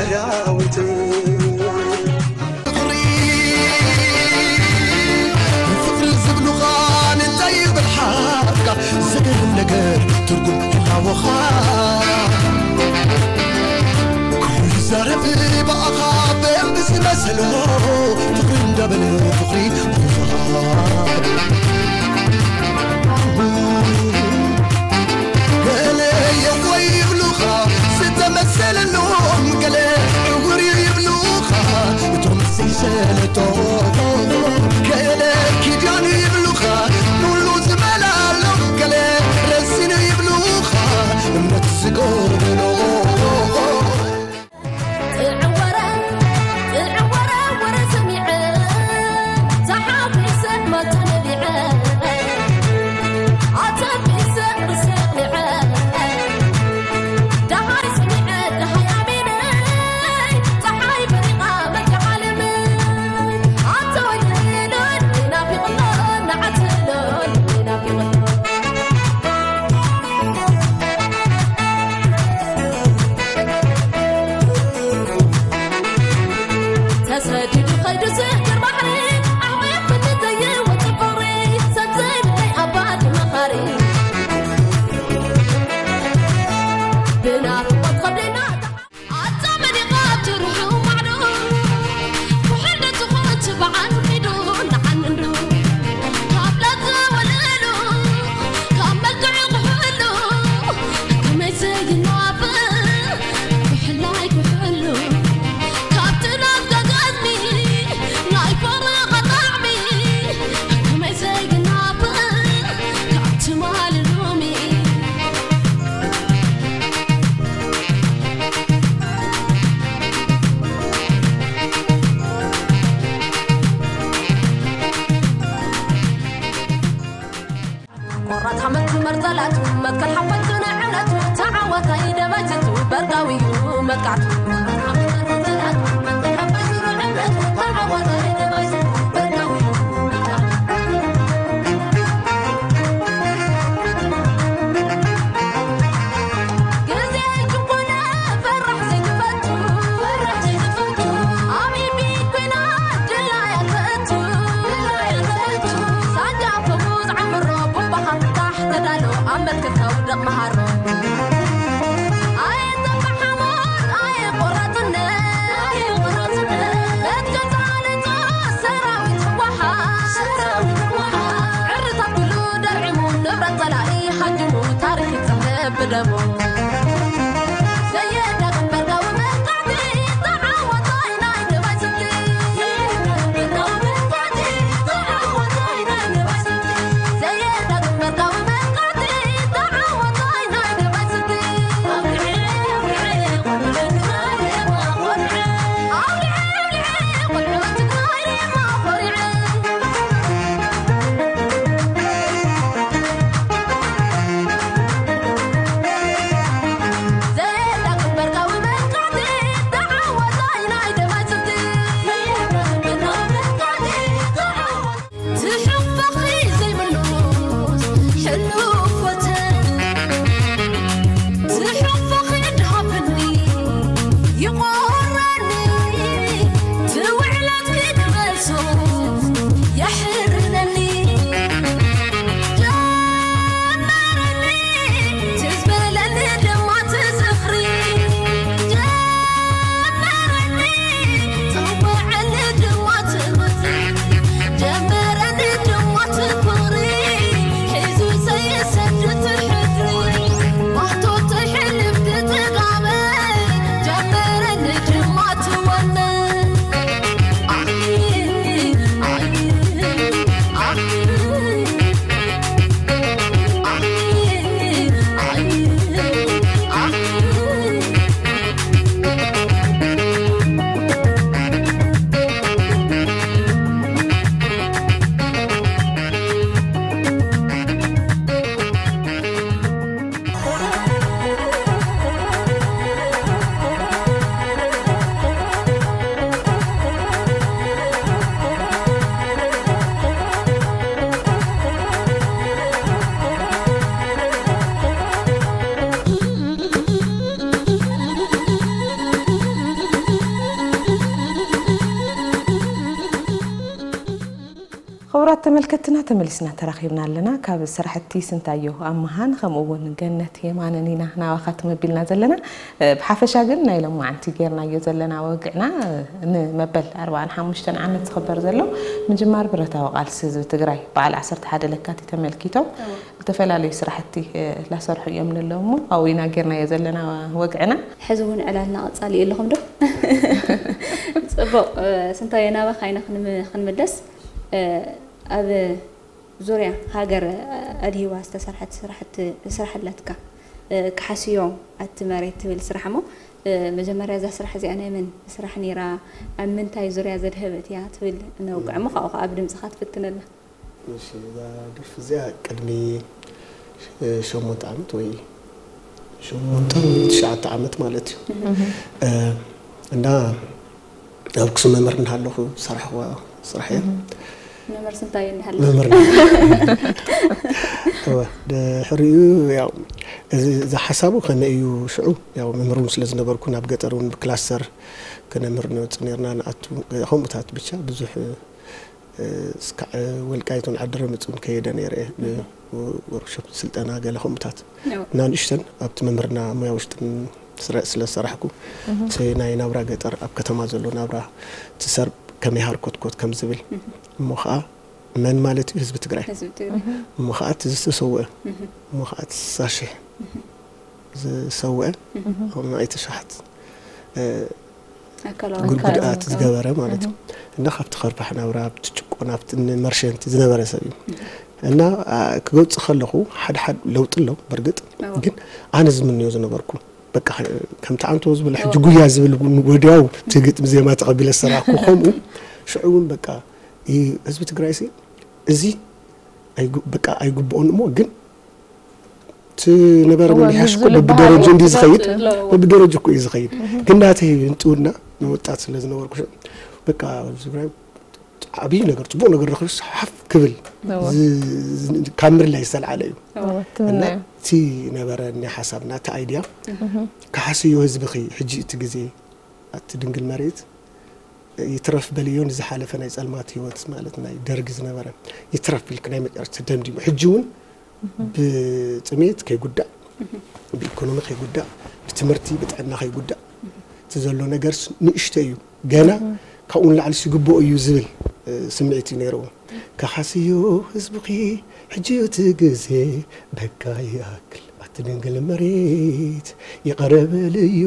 ዳዊት። ፍቕሪ፣ ፍቕሪ ዝብሉኻ እንታይ ይብል ሓፍካ? ዘገርም ነገር ትርጉም ይሃወኻ። ኩሉ ይዛረብ ብኣኻ በምዝመሰሎ፣ ፍቕሪ እንዳበለ ፍቕሪ ብዙሃ። ገለ የዋህ ይብሉኻ ዝተመሰለሎም፣ ገለ ዕውር ይብሉኻ እቶም ዘይሰለጦም፣ ገለ ኪዳን ይብሉኻ ንሉ ዝመላሎም፣ ገለ ረሲን ይብሉኻ እምነት ዝጎደሎ። ክቡራት ተመልከትና፣ ተመሊስና ተራኺብና ኣለና። ካብ ስራሕቲ ስንታዮ ኣመሃን ከምኡ እውን ገነት የማነን ኢና ናባኻትኩም ኣቢልና ዘለና። እ፣ ብሓፈሻ ግን ናይ ሎማዓንቲ ጌርናዮ ዘለና ወግዕና፣ እ፣ ንመበል ኣርባዓን ሓሙሽተን ዓመት ዝኽበር ዘሎ ምጅማር ብረታዊ ቃልሲ ህዝቢ ትግራይ በዓል ዓሰርተ ሓደ ለካቲት ተመልኪቶም እዎ። ዝተፈላለዩ ስራሕቲ፣ እ፣ ላሰርሑ እዮም ንለው እሞ ኣብኡ ኢና ጌርናዮ ዘለና ወግዕና። ሕዚ እውን ዕላልና ቀጻሊ ኣለኹም ዶ? ጽቡቕ፣ እ፣ ስንታዮ ናባኻ ኢና ክንም-፣ ክንምለስ። እ፣ ኣብ ዙርያ ሃገር ኣድሂባ ዝተሰርሐት ስራሕቲ፣ ስራሕ ኣለትካ። እ፣ ክሓስዮ ኣቲ መሬት ትብል ስራሕ እሞ፣ እ፣ መጀመርያ እዛ ስራሕ እዚኣ ናይ መን ስራሕ ነይራ? ኣብ ምንታይ ዙርያ ዘድሀበት እያ ትብል ነውግዕ እሞ፣ ካብኡ ከዓ ብድምፅኻ ትፍትነልና። እሺ፣ እዛ ደርፊ እዚኣ ቅድሚ፣ እ፣ ሸሞንተ ዓመት ወይ ሸሞንተ ወይ ትሽዓተ ዓመት ማለት እዩ። እህ። እ፣ እና ኣብ ኣክሱም መምህር እናሃለኹ ዝሰራሕኽዋ ስራሕ እያ። እህ። መምህር ስንታይ እናሃለኹ? መምህር እናሃለኹ። እወ፣ ድሕሪኡ ያው እዚ፣ እዚ ሓሳቡ ከመይ እዩ ሽዑ፣ ያው መምህር እውን ስለ ዝነበርኩ ናብ ገጠር እውን ብክላስተር ከነምህር ንወፅእ ነርና፣ ንኣቱ፣ ከምኡታት ብቻ ብዙሕ፣ እ፣ እስካዕ ወልቃይት እውን ዓዲ ረመፅ እውን ከየደ ነይረ እየ። ብ-፣ ወርክሾፕ ስልጠና ገለ ከምኡታት። እዎ። እና ንእሽተን ኣብቲ መምህርና ሞያ ውሽጥን ስረ-፣ ስለ ዝሰራሕኩ፣ እህ። እቲ ናይ ናብራ ገጠር ኣብ ከተማ ዘሎ ናብራ ትሰርብ ከመይ ሃርኮትኮት ከም ዝብል፣ እህ። እሞ ኸዓ መን ማለት እዩ? ህዝቢ ትግራይ። ህዝቢ ትግራይ። እህ። እሞ ኸዓ እቲ ዝተሰውአ፣ እህ። እሞ ኸዓ እቲ ስሳ ሽሕ እህ። ዝሰውአ፣ እህ። ኣብ ንኣይተ ሸሓት፣ እ፣ ኣካላዊ ጉድ-፣ ኣካላዊ ጉድኣት ዝገበረ ማለት እዩ። እህ። እና ካብቲ ከርፋሕ ናብራ፣ ኣብቲ ጭቆና፣ ኣብቲ መርሸንቲ ዝነበረ ሰብ እዩ። እህ። እና፣ ኣ፣ ክገልጽ ከለኹ ሓደ ሓደ ለውጢ ኣሎ በርግጥ፣ እዎ። ግን ኣነ ዝምንዮ ዝነበርኩ በቃ ከምቲ ዓንቶ ዝብል ሕጂ እዎ። ጉያ ዝብል እውን ወዲያው እቲ ግጥሚ ዜማ ተቐቢለ ዝሰራሕኩ ከምኡ ሽዑ እውን በቃ ይ-፣ ህዝቢ ትግራይ ሲ እዚ ኣይጉ-፣ በቃ ኣይግብኦን እሞ ግን እቲ ነበረ እወ፣ መሪሓሽ እኮ ምስዚ በብደረጃ ልበሃል እንዲ ዝኸይድ፣ ለውጢ ኣለዎ። በብደረጃ እኮ እዩ ዝኸይድ። እህ። ግን ናተይ እንጥውና ንወጣት ስለ ዝነበርኩ፣ በቃ ኣብዚ ብራይ ዓብዪ ነገር፣ ጽቡቕ ነገር ረኺቡ ሓፍ ክብል እወ። ዝ-፣ ዝ-፣ ካብ ምድላይ ዝተልዓለ እዩ። እወ፣ እወ፣ እና ትምነዮ። እቲ ነበረ ናይ ሓሳብና፣ እቲ ኣይድያ፣ እህ። ክሓስዮ ህዝብኺ፣ ሕጂ እቲ ግዜ፣ ኣቲ ድንግል መሬት፣ ይትረፍ በልዮ ንዝሓለፈ ናይ ጸልማት ህይወት ማለት ናይ ደርጊ ዝነበረ ይትረፍ ኢልክ ናይ መጨረሽታ ደምዲሙ። ሕጂ እውን እህ። ብጥሜት ከይጉዳእ፣ እህ። ብኢኮኖሚ ከይጉዳእ፣ ብትምህርቲ፣ ብጥዕና ከይጉዳእ፣ እህ። እቲ ዘሎ ነገርስ ንእሽቶ እዩ። ገና እህ። ካብኡ ንላዕሊ ይግብኦ እዩ ዝብል፣ እ፣ ስምዒት እዩ ነይርዎ። ከሓስዮ ህዝብኺ ሕጂ እዩ እቲ ግዜ፣ በቃ ይኣክል። ኣቲ ድንግል መሬት ይቕረ በልዮ፣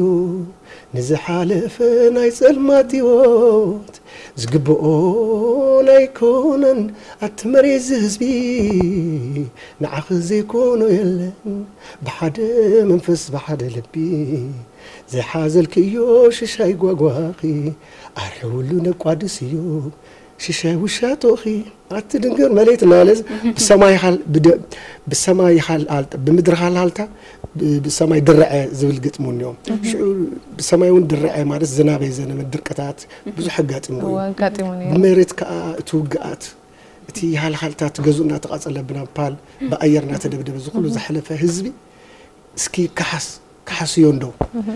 ንዝሓለፈ ናይ ጸልማት ህይወት ዝግብኦን ኣይኮነን። ኣቲ መሬት ዝህዝቢ ንዓኺ ዘይኮኖ የለን። ብሓደ መንፈስ ብሓደ ልቢ ዝሓዘልክዮ ሽሻይ ጓጓኺ ኣርሕውሉ ነቋድስዮ። ሽሻይ ውሻጦኺ ኣቲ ድንግል መሬት እናበለ እዚ ብሰማይ ሃል-፣ ብደ-፣ ብሰማይ ሃል-፣ ሃልታ፣ ብምድሪ ሃልሃልታ፣ ብ-፣ ብሰማይ ድርዐ ዝብል ግጥሚ እውን እኒኦ። እህ። ሽዑ ብሰማይ እውን ድርዐ ማለት ዝናብ የዘነበ፣ ድርቅታት ብዙሕ ኣጋጢሙ እዩ። እወ፣ ኣጋጢሙ ነይሩ። ብመሬት ከዓ እቲ ውግኣት፣ እቲ ሃልሃልታ፣ እቲ ገዝኡ እናተቃጸለ ብናፓል፣ ብኣየር እናተደብደበ፣ እዚ ኩሉ እህ። ዝሓለፈ ህዝቢ እስኪ ከሓስ-፣ ከሓስዮ እንዶ። እህ።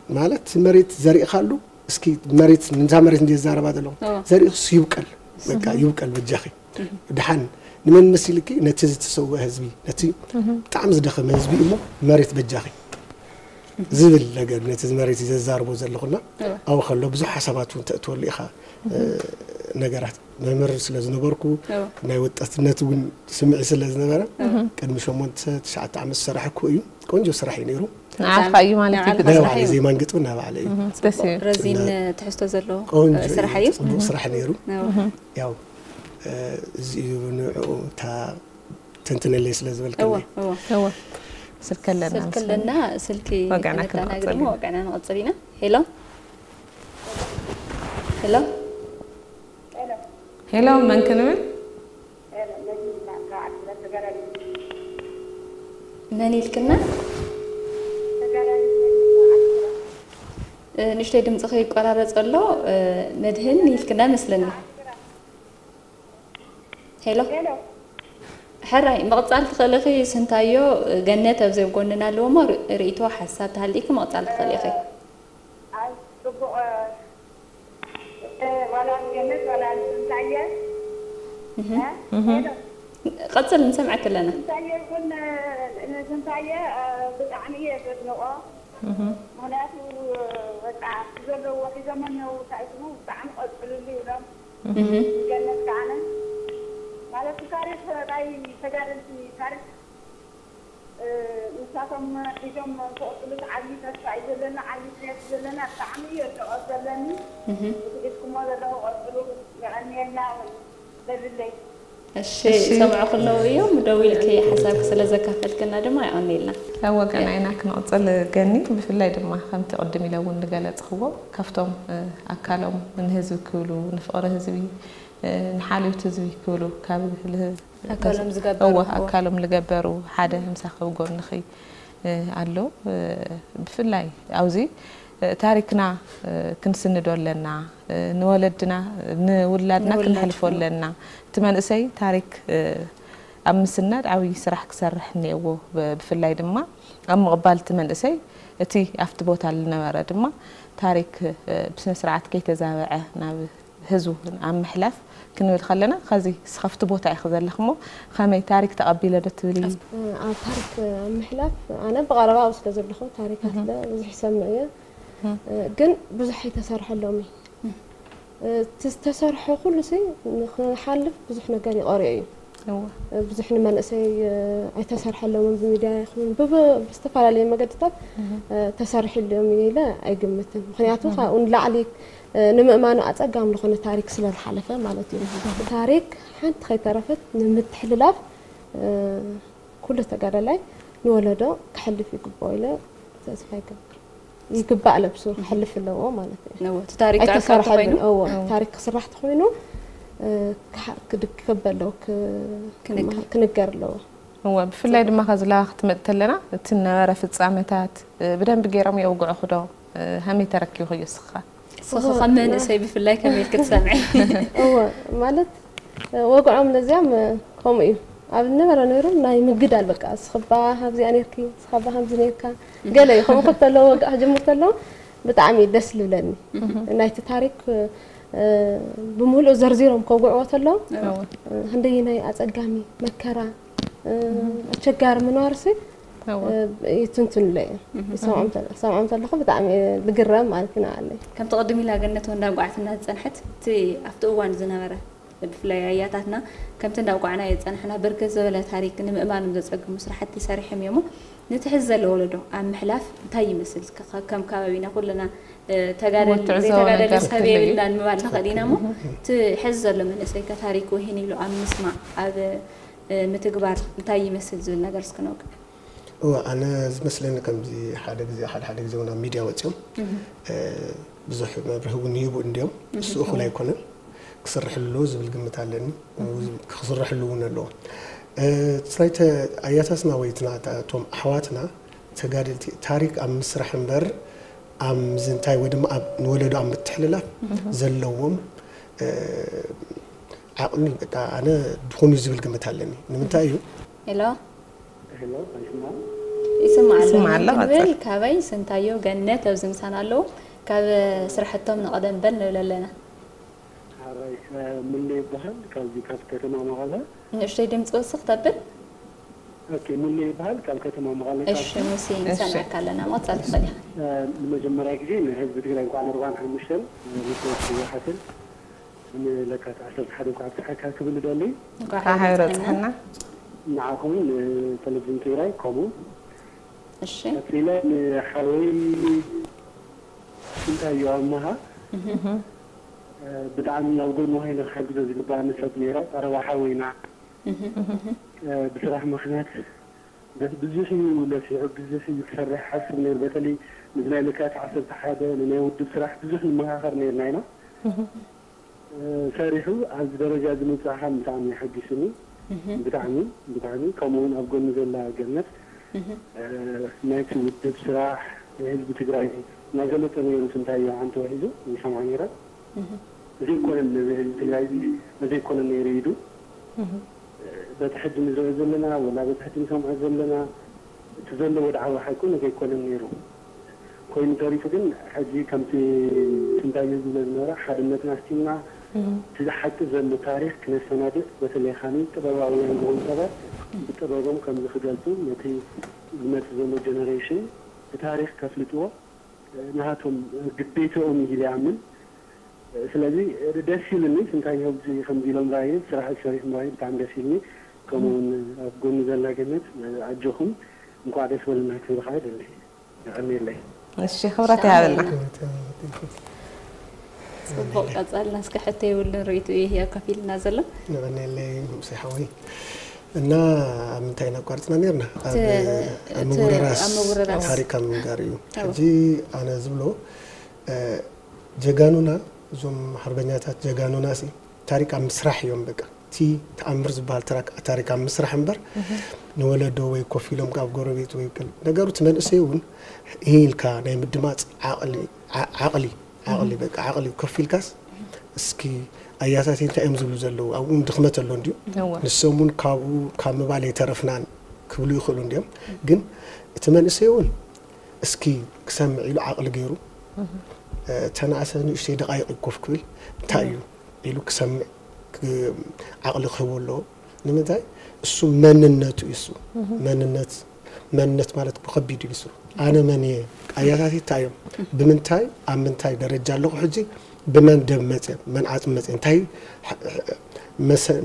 ማለት መሬት ዘሪእኻሉ፣ እስኪ መሬት፣ ነዛ መሬት እንደ ዝዛረባ ዘለኹ፣ እዎ። ዘሪእኽስ ይብቀል፣ በቃ እህ። ይብቀል በጃኺ። እህ። ድሓን ንመን መሲልኪ? ነቲ ዝተሰውአ ህዝቢ፣ ነቲ እህ። ብጣዕሚ ዝደኸመ ህዝቢ እሞ መሬት በጃኺ ዝብል ነገር፣ ነቲ መሬት ዘዛርቦ ዘለኹና፣ እዎ። ኣብኡ ከሎ ብዙሕ ሓሳባት እውን ተእትወሉ ኢኻ፣ እህ። እ፣ ነገራት። መምህር ስለ ዝነበርኩ፣ እዎ። ናይ ወጣትነት እውን ስምዒት ስለ ዝነበረ፣ እህ። ቅድሚ ሸሞንተ፣ ትሽዓተ ዓመት ዝሰራሕኩ እዩ። ቆንጆ ስራሕ እዩ ነይሩ። ንዓኻ እዩ ማለት እዩ ናይ ግጥሚ ባዕለይ ስራሕ እዩ። ዜማን ግጥምን ናይ ባዕለይ እዩ። እህ፣ ደስ ይብል። ረዚን እና ትሕዝቶ ዘለዎ፣ ቆንጆ ስራሕ እዩ፣ እዩ። ጽቡቕ እህ። ስራሕ ነይሩ። እዎ። እህ። ያው፣ እ፣ እዚ እዩ ንዕኡ እታ ተንትነለይ ስለ ዝበልክኒ። እዎ፣ እዎ። እዎ። ስልኪ ኣለና ስልኪ መሰለኝ። ኣለና፣ ስልኪ ወጋዕና ነተናግድ ክንቀጽል እሞ ኢና። ወጋዕና ንቐጽል ኢና። ሄሎ? ሄሎ? ሄሎ፣ መን ክንብል? መን ኢልክና? እ፣ ንእሽተይ ድምፅኺ ይቆራረፅ ኣሎ። እ፣ መድህን ኢልክና መስለኒ። ሄሎ? ሄሎ? ሕራይ፣ ምቕፃል ትኽእልኺ። ስንታዮ፣ ገነት ኣብዚ ኣብ ጎንና ኣለዎ እሞ ር-፣ ርእይቶ ሓሳብ ተሃልይኪ ምቕፃል ትኽእሊ ኢኺ። ኣይ፣ ጽቡቕ፣ እ፣ ዋላ ገነት ዋላ ስንታየ። ቀጽል፣ ንሰምዐኪ ኣለና። ስንታየ ይኹን፣ ንስንታየ ብጣዕሚ እየ ዘድንቆ። ምኽንያቱ በቃ እቲ ዘለዎ ሒዞሞ እኒው እንታይ ስሙ ብጣዕሚ ቀፅልሉ ይብሎም። ገነት ከዓነ ማለት ታሪክ ናይ ተጋደልቲ ታሪክ ንሳቶም ሒዞም ክቕፅሉ ዓብዪ ተስፋ እዩ ዘለና፣ ዓብዪ ድሌት እዩ ዘለና። ብጣዕሚ እዩ ኣድንቖት ዘለኒ። እቲ ሒዝኩሞ ዘለኹ ቀፅሉ፣ የቐንየልና እውን በልለይ። እሺ፣ እሺ። ሰምዑ ከለዉ እዮም። ደው ኢልኪ ሓሳብኪ ስለ ዘካፈልክና ድማ የቐንየልና። ኣብ ወገናይና ክንቕፅል ገኒ፣ ብፍላይ ድማ ከምቲ ቅድም ኢለ እውን ዝገለፅኽዎ፣ ካብቶም ኣካሎም ንህዝቢ ክብሉ፣ ንፍቕሪ ህዝቢ፣ ንሓልዮት ህዝቢ ክብሉ ካብ ኣካሎም ዝገበሩ፣ እወ፣ ኣካሎም ዝገበሩ ሓደ ምሳኺ ኣብ ጎንኺ ኣሎ። ብፍላይ ኣብዚ ታሪክና ክንስንዶ ኣለና፣ ንወለድና፣ ንውላድና ንውላድ። ክነሕልፎ ኣለና። እቲ መንእሰይ ታሪክ ኣብ ምስናድ ዓብዪ ስራሕ ክሰርሕ እኒአዎ። ብ-፣ ብፍላይ ድማ ኣብ ምቕባል እቲ መንእሰይ፣ እቲ ኣብቲ ቦታ ዝነበረ ድማ ታሪክ ብስነ ስርዓት ከይተዛበዐ ናብ ህዝቡ ኣብ ምሕላፍ ክንብል ከለና፣ ከዚ እስኸ ኣብቲ ቦታ ኢኺ ዘለኺ እሞ ከመይ ታሪክ ተቐቢለ ዶ ትብሊ? ኣብ ታሪክ ኣብ ምሕላፍ ኣነ ብቐረባ ኣብኡ ስለ ዘለኹ ታሪካት እህ። ለ ብዙሕ ይሰምዕ እየ። እህ። ግን ብዙሕ ኣይተሰርሐሎም እዩ። እህ። እቲ ዝተሰርሐ ኩሉ ሲ ንክሓልፍ ብዙሕ ነገር ይቐርዮ እዩ። እወ። ብዙሕ ንመንእሰይ ኣይተሰርሐሎምን ብሚድያ ይኹን ብብ-፣ ብዝተፈላለየ መገድታት እህ። ተሰሪሕሎም እዩ ኢለ ኣይግምትን። ምኽንያቱ እህ። ካብኡ ንላዕሊ ንምእማኑ ኣጸጋሚ ዝኾነ ታሪክ ስለ ዝሓለፈ ማለት እዩ። እህ። ታሪክ ሓንቲ ከይተረፈት ንምትሕልላፍ ኩሉ ተጋዳላይ ንወለዶ ክሕልፍ ይግብኦ ኢለ ተስፋ ይገብር። ይግባእ ለብሱ ክሕልፍ ኣለዎ ማለት እዩ። እወ፣ እቲ ታሪክ ክዕቀብ ኣይተሰርሐሉን። ተኾይኑ? እወ፣ እወ። ታሪክ ክስራሕ ተኾይኑ፣ እ፣ ክሓ-፣ ክድ-፣ ክከበ ኣለዎ፣ ክ-፣ ክነገር። ክማ-፣ ክንገር ኣለዎ። እወ፣ ብፍላይ ድማ ከዚ ላባ ክትመጽእ ተለና፣ እቲ ነበረ ፍጻመታት፣ እ፣ ብደንቢ ገይሮም የውግዑኺ ዶ? እ፣ ከመይ ተረኪብኽዮ እስኻ? እስኺ እወ፣ ከም መንእሰይ ና- ብፍላይ ከመይ ኢልኪ ትሰምዒ? እወ፣ ማለት፣ ወግዖም ለዚያም ከምኡ እዩ። ኣብ ነበረ ነይሩ ናይ ምግዳል በቃ፣ እስኽባ ካብዚኣ ነይርኪ፣ እስኻባ ከምዚ ነይርካ፣ ገለ እዩ። ከምኡ ክተለዎ ወግዓ ክጅምር ተሎ ብጣዕሚ እዩ ደስ ልብለኒ። እህ። ናይቲ ታሪክ፣ እ፣ ብምሉእ ዘርዚሮም ከውግዕዎ ተሎ፣ እወ። እ፣ ክንደየናይ ኣጸጋሚ መከራ፣ እ፣ እህ። ኣቸጋሪ ምንባርሲ፣ እወ። እ፣ ይትንትኑለ እዮም። እህ። ይሰምዖም ተለ-፣ ሰምዖም ተለኹ ብጣዕሚ እየ ልግረም ማለት እዩ ንዓለይ። ከምቲ ቅድም ኢላ ገነት እውን እንዳውጋዕትና ዝጸንሐት፣ እቲ ኣብቲ እዋን ዝነበረ ብፍላይ ኣያታትና ከምቲ እንዳውጋዕናዮ ዝጸናሕና ብርክት ዝበለ ታሪክ ንምእማኖም ዘጸግሙ ስራሕቲ ሰሪሖም እዮም። ነቲ ሕዚ ዘሎ ወለዶ ኣብ ምሕላፍ እንታይ ይመስል? ከ-፣ ከም ከባቢና ኩልና፣ እ፣ ተጋደል-፣ እወ፣ ትዕዘቦ ዘይተጋደለ ነገር ሰብ ክትህሉ እዩ። የብልናን ምባል ንኽእል ኢና እሞ፣ እህ። እቲ ሕዚ ዘሎ መንእሰይ ከ ታሪኩ ውሂን ኢሉ ኣብ ምስማዕ፣ ኣብ፣ እ፣ ምትግባር እንታይ ይመስል ዝብል ነገር እስኪ ነውግዕ። እወ፣ ኣነ ዝመስለኒ ከምዚ ሓደ ግዜ፣ ሓደ ሓደ ግዜ እውን ኣብ ሚድያ ወፂኦም፣ እህ። እ፣ ብዙሕ መብርሂ እውን ይህቡ እንድዮም። እህ። ንሱ እኹል ኣይኮነን፣ ክስርሕሉ ኣለዎ ዝብል ግምት ኣለኒ። እህ። ክስርሕሉ እውን ኣለዎ። እ፣ እቲ ናይተ ኣያታትና ወይ እቲ ናታ-፣ እቶም ኣሕዋትና ተጋደልቲ ታሪክ ኣብ ምስራሕ እምበር ኣብ ምዝንታይ ወይ ድማ ኣብ ንወለዶ ኣብ ምትሕልላፍ እህ። ዘለዎም፣ እ፣ ዓቕሚ በቃ ኣነ ድኹን እዩ ዝብል ግምት ኣለኒ። ንምንታይ እዩ? ሄሎ። ሄሎ፣ ኣይስማዕን? ይስማዕ ኣሎ። ይስማዕ ኣሎ፣ ይንብል። ቀጽል። ካበይ? ስንታየሁ፣ ገነት ኣብዚ ምሳና ኣለዉ። ካብ ስራሕቶም ንቐደም በል ንብል ኣለና። ሓራይ፣ እ፣ ሙሌ ይበሃል። ካብዚ ካብ ከተማ መቐለ። ንእሽተይ ድምፂ ወስኽ ተብል። ኦኬ፣ ሙሌ ይበሃል። ካብ ከተማ መቐለ። እሺ፣ ካብዚ ሙሴ፣ እሺ። ንሰምዐካ ኣለና። መቐጸል ትኽእል ኢኻ። እ፣ ንመጀመርያ ግዜ ንህዝቢ ትግራይ እንኳዕ ንኣርባዓን ሓሙሽተን፣ እ፣ ልደት ህወሓትን ንለካቲት ዓሰርተ ሓደ እንኳዕ ኣብፀሐካ ክብል እደሊ። እንኳዕ ሓይሩ ኣብፀሐና። ንዓኹም ንቴሌቪዥን ትግራይ ከምኡ። እሺ። ቀፂለ ንሓወይ ስንታየሁ ኣመሃ፣ እህ። ብጣዕሚ ኣብ ጎኑ ኮይነ ክሕግዞ ዝግባኣኒ ሰብ ነይረ። ቀረባ ሓወይና። እህ። ብስራሕ ምኽንያት በቲ ብዙሕ እዩ ለፊዑ፣ ብዙሕ እዩ ክሰርሕ ሓስብ ነይሩ። በተለይ ምስ ናይ ለካቲት ዓሰርተ ሓደ ንናይ ውድብ ስራሕ ብዙሕ ንመኻኸር ነይርና ኢና። እህ። እ፣ ሰሪሑ ኣብዚ ደረጃ እዚ ምብጻሕ ከዓ ብጣዕሚ ሓጒሱኒ። እህ። ብጣዕሚ፣ ብጣዕሚ። ከምኡ እውን ኣብ ጎኒ ዘላ ገነት፣ እህ። እ፣ ናይቲ ውድብ ስራሕ፣ ናይ ህዝቢ ትግራይ እናገለጸ ነይሩ ስንታየሁ ዓንተወ ሒዙ ይሰምዖ ነይረ። እህ። ዘይኮነን ነዚ ህዝቢ ትግራይ እዚ፣ ዘይኮነን ነይሩ ኢዱ። እህ። በቲ ሕጂ ንሪኦ ዘለና፣ ወላ በቲ ሕጂ ንሰምዖ ዘለና፣ እቲ ዘሎ ወድዓዊ ሓቂ እውን ዘይኮነን ነይሩ። ኮይኑ ተሪፉ ግን፣ ሕጂ ከምቲ ስንታየሁ ዝብሎ ዝነበረ፣ ሓድነትና ኣስቲምና፣ እቲ ሓቂ ዘሎ ታሪኽ ክነሰናድእ፣ በተለይ ኻኒ ጥበባውያን ዝኾኑ ሰባት ብጥበቦም ከምዚ ክገልጹ፣ ነቲ ዝመጽእ ዘሎ ጀነሬሽን ብታሪኽ ከፍልጥዎ ናሃቶም ግዴታኦም ኢለ ይኣምን። ስለዚ ደስ ኢሉኒ፣ ስንታየሁ ከምዚ ኢሎም ራእዩ ስራሕ ሰሪሑ ምራእዩ ብጣዕሚ ደስ ኢሉኒ። ከምኡ እውን ኣብ ጎኒ ዘላ ገነት ኣጆኹም፣ እንኳዕ ደስ በለና ክብል ከዓ ይደሊ። የቐንየለይ። እሺ፣ ክብረት ይሃበልና። ጽቡቕ ቀጸልና። እስከ ሕቶ የብሉን ርእይትኡ እዩ ከፊልና ዘሎ። ንቐንየለይ ንጉሴ ሓወይ። እና ኣብ ምንታይ ኢና ኣቋርጽና ነርና? ኣብ ምውርራስ ታሪክ ኣብ ምንጋር እዩ። ሕጂ ኣነ ዝብሎ ጀጋኑና፣ እዞም ሓርበኛታት ጀጋኑና ሲ ታሪክ ኣብ ምስራሕ እዮም። በቃ እቲ ተኣምር ዝበሃል ታሪክ ኣብ ምስራሕ እምበር ንወለዶ ወይ ኮፍ ኢሎም ካብ ጎረቤት ወይ ነገሩ እቲ መንእሰይ እውን ኢልካ ናይ ምድማፅ ዓቕሊ ዓቕሊ ዓቕሊ በቃ ዓቕሊ ኮፍ ኢልካስ እስኪ ኣያታተይ እንታይ እዮም ዝብሉ ዘለዉ ኣብኡ ድኽመት ኣሎ እንድዩ ንሶም እውን ካብኡ ካብ ምባል የተረፍናን ክብሉ ይኽእሉ እንድዮም ግን እቲ መንእሰይ እውን እስኪ ክሰምዕ ኢሉ ዓቕሊ ገይሩ ተናእሰ ንእሽተይ ደቃይቕ ኮፍ ክብል እንታይ እዩ ኢሉ ክሰምዕ ዓቕሊ ክህቦ ኣለዎ ንምንታይ እሱ መንነቱ እዩ እሱ መንነት መንነት ማለት ብኸቢድ እዩ እሱ ኣነ መን እየ ኣያታተይ እንታይ እዮም ብምንታይ ኣብ ምንታይ ደረጃ ኣለኹ ሕጂ ብመን ደም መፅዮም መን ዓፅሚ መፅዮም እንታይ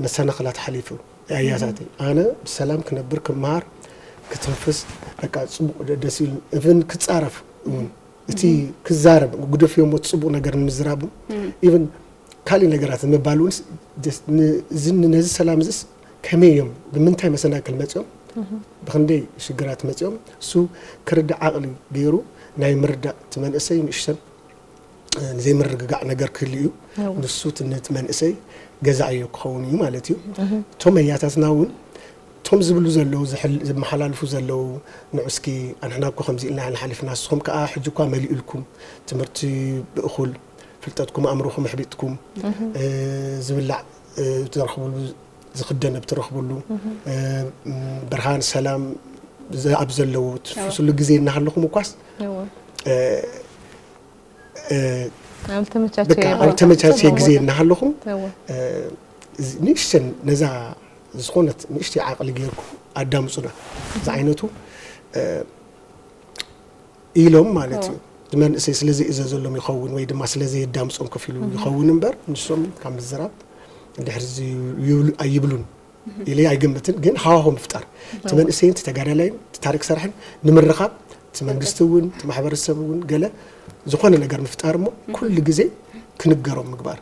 መሰናኽላት ሓሊፉ ኣያታተይ ኣነ ብሰላም ክነብር ክመሃር ክትንፍስ በቃ ፅቡቅ ደስ ኢሉ እብን ክፃረፍ እውን እቲ ክዛረብ ግደፍዮ እሞ ፅቡቅ ነገር ንምዝራብ እውን even ካሊእ ነገራት ንምባል እውን ነዚ ሰላም እዚስ ከመይ እዮም ብምንታይ መሰናክል መፅኦም ብክንደይ ሽግራት መፅኦም እሱ ክርዳእ ዓቅሊ ገይሩ ናይ ምርዳእ እቲ መንእሰይ ንእሽተን ዘይምርግጋዕ ነገር ክህሉ እዩ ንሱ እቲ ነቲ መንእሰይ ገዛእዮ ክኸውን እዩ ማለት እዩ እቶም ኣያታትና እውን እቶም ዝብሉ ዘለዉ ዘመሓላልፉ ዘለዉ ንዑ እስኪ ኣንሕና እኮ ከምዚ ኢልና ኢና ሓሊፍና ንስኹም ከዓ ሕጂ እኳ መሊኡልኩም ትምህርቲ ብእኹል ፍልጠትኩም ኣእምሮኹም ኣሕቢጥኩም ዝብላዕ ትረኽብሉ ዝኽደን ብትረኽብሉ ብርሃን ሰላም ኣብ ዘለዎ ትፍስሉ ግዜ እናሃለኹም እኳስ ኣብ ተመቻቸ ግዜ እናሃለኹም ንእሽተን ነዛ ዝኾነት ንእሽተይ ዓቕሊ ገይርኩም ኣዳምፁና ዝዓይነቱ ኢሎም ማለት እዩ መንእሰይ ስለ ዘይእዘዘሎም ይኸውን ወይ ድማ ስለ ዘየዳምፆም ከፊሉ ይኸውን እምበር ንሶም ካብ ምዝራብ ድሕር ኣይብሉን ኢለ ኣይግምትን ግን ሃዋሆ ምፍጣር እቲ መንእሰይን እቲ ተጋዳላይን እቲ ታሪክ ሰርሕን ንምርኻብ እቲ መንግስቲ እውን እቲ ማሕበረሰብ እውን ገለ ዝኾነ ነገር ምፍጣር እሞ ኩሉ ግዜ ክንገሮም ምግባር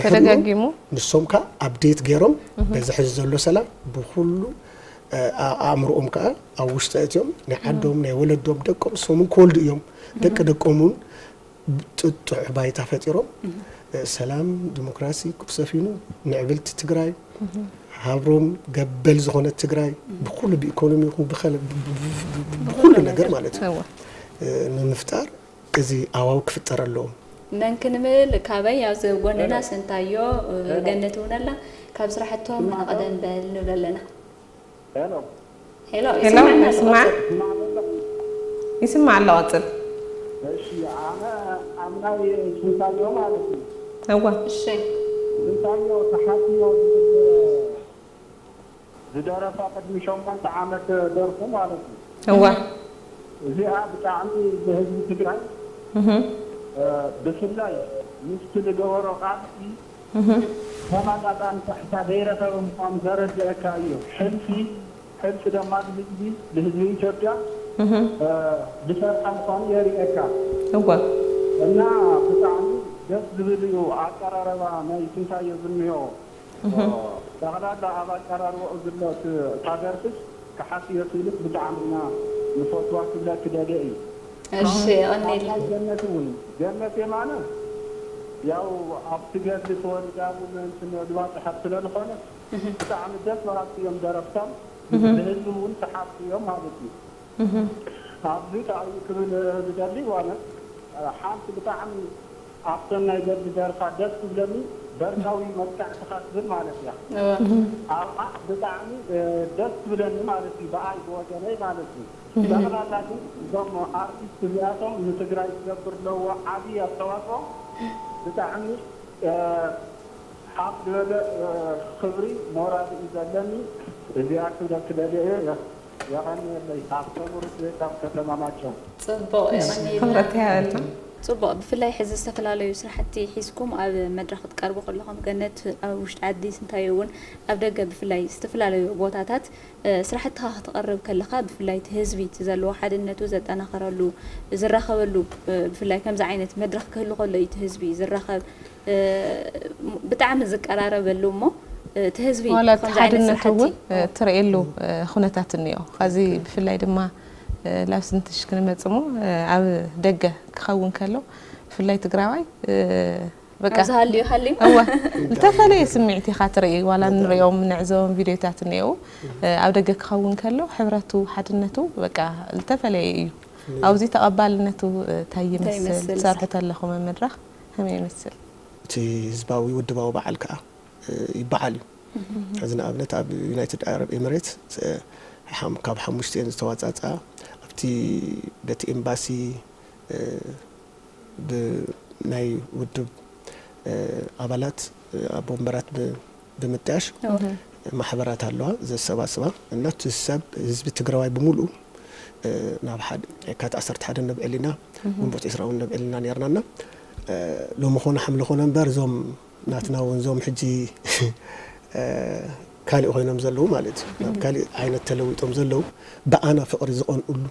ተደጋጊሙ ንሶም ከዓ ኣብዴት ገይሮም በዚ ሕዚ ዘሎ ሰላም ብኩሉ ኣእምሮኦም ከዓ ኣብ ውሽጢ እትዮም ናይ ዓዶም ናይ ወለዶም ደቆም ንሶምን ክወልዱ እዮም ደቂ ደቆም እውን ጥጡሕ ባይታ ፈጢሮም ሰላም ዲሞክራሲ ክሰፊኑ ምዕብልቲ ትግራይ ሃብሮም ገበል ዝኾነት ትግራይ ብኩሉ ብኢኮኖሚ ይኹን ብኩሉ ነገር ማለት እዩ ንምፍጣር እዚ ኣዋው ክፍጠር ኣለዎ መን ክንብል ካበይ ኣብዚ ጎንና ስንታዮ ገነት እውን ኣላ ካብ ስራሕቶም ንቐደም በል ንብል ኣለና ሄሎ ይስማዕ ይስማዕ ኣሎ ቀፅል እሺ ኣነ ኣብ ናይ ስንታዮ ማለት እዩ እዋ እሺ ስንታዮ ተሓትዮ ዝደረፋ ቅድሚ ሸሞንተ ዓመት ደርፉ ማለት እዩ እዋ እዚኣ ብጣዕሚ ብህዝቢ ትግራይ ብፍላይ ምስቲ ዝገበሮ ቃልሲ ተመጣጣኒ ካሕሳ ዘይረኸበ ምዃኑ ዘረድአካ እዩ። ሕልፊ ሕልፊ ደማ ንህዝቢ ንህዝቢ ኢትዮጵያ ዝሰርሓ ምዃኑ የርእየካ። እወ። እና ብጣዕሚ ደስ ዝብል እዩ ኣቀራረባ ናይ ስንታየ ዝኒሆ። ጠቕላላ ኣብ ኣቀራርባኡ ዝሎ እታ ደርፍስ ክሓስዮ ክኢልስ ብጣዕሚ ኢና ንፈትዋ ክብለኪ ደልየ እዩ። እሺ የቐንየልና። ገነት እውን ገነት የማነ ያው ኣብቲ ገድሊ ተወሊዳ እውን እንትን ዝባፅሐት ስለ ዝኾነት ብጣዕሚ ደስ በሃልቲ እዮም ደረፍቶም ንህዝቢ እውን ሰሓብቲ እዮም ማለት እዩ። ኣብዚ ጣዕሚ ክብል ዝደሊ ዋነ ሓንቲ ብጣዕሚ ኣብተን ናይ ገድሊ ደርፋ ደስ ትብለኒ በርካዊ መጥቃዕትኻ ትብል ማለት እያ። ኣብኣ ብጣዕሚ ደስ ትብለኒ ማለት እዩ ብኣይ ብወገነይ ማለት እዩ። ጠቕላላ ግን እዞም ኣርቲስት እዚኣቶም ንትግራይ ዝገብር ለዎ ዓብዪ ኣስተዋፅኦ ብጣዕሚ ሓፍ ዝበለ ክብሪ ሞራል እዩ ዘለኒ። እዚኣ ክብለኪ ደልየ እየ። የቐንየለይ። ሃብቶም ሩት ካብ ከተማ ማጨው። ጽቡቕ፣ የቐንየልና። ክብረት ይሃበልና። ጽቡቕ። ብፍላይ ሕዚ ዝተፈላለዩ ስራሕቲ ሒዝኩም ኣብ መድረኽ ክትቀርቡ ከለኹም፣ ገነት፣ ኣብ ውሽጢ ዓዲ ስንታዩ እውን ኣብ ደገ ብፍላይ ዝተፈላለዩ ቦታታት ስራሕትኻ ክተቕርብ ከለኻ፣ ብፍላይ እቲ ህዝቢ እቲ ዘለዎ ሓድነቱ ዘጠናኸረሉ ዝራኸበሉ፣ ብፍላይ ከምዚ ዓይነት መድረኽ ክህሉ ከሎ እዩ እቲ ህዝቢ ዝራኸብ። ብጣዕሚ ዝቀራረበሉ እሞ እቲ ህዝቢ ዋላ እቲ ከምዚ ዓይነት ሓድነቱ ስራሕቲ እውን ትርእየሉ ኩነታት እኒኦ። ኻዚ ብፍላይ ድማ ላብ ስንትሽ ክንመጽ እሞ ኣብ ደገ ክኸውን ከሎ ብፍላይ ትግራዋይ በቃ ኣብ ዝሃልዩ ሃልዩ እወ ዝተፈለየ ስምዒት ኢኻ ትርኢ። ዋላ ንሪኦም ንዕዘቦም ቪድዮታት እኒአው ኣብ ደገ ክኸውን ከሎ ሕብረቱ ሓድነቱ በቃ ዝተፈለየ እዩ። ኣብዚ ተቐባልነቱ እንታይ ይመስል? ትሰርሑ ተለኹም መድረኽ ከመይ ይመስል? እቲ ህዝባዊ ውድባዊ በዓል ከዓ ይበዓል እዩ። እዚ ንኣብነት ኣብ ዩናይትድ ዓረብ ኤምሬት ካብ ሓሙሽተ እየን ዝተዋፃፅኣ ኣብቲ በቲ ኤምባሲ ብናይ ውድብ ኣባላት ኣብ ወንበራት ብምጥያሽ ማሕበራት ኣለዋ ዘሰባስባ እና እቲ ሰብ ህዝቢ ትግራዋይ ብምሉኡ ናብ ሓደ የካት ዓሰርተ ሓደ ነብዕል ኢና ግንቦት ዕስራ እውን ነብዕል ኢና ነርና እና ሎሚ ኾነ ሓምለ ኾነ እምበር እዞም ናትና እውን እዞም ሕጂ ካሊእ ኮይኖም ዘለዉ ማለት እዩ ናብ ካሊእ ዓይነት ተለዊጦም ዘለዉ ብኣና ፍቕሪ ዝቐንኡሉ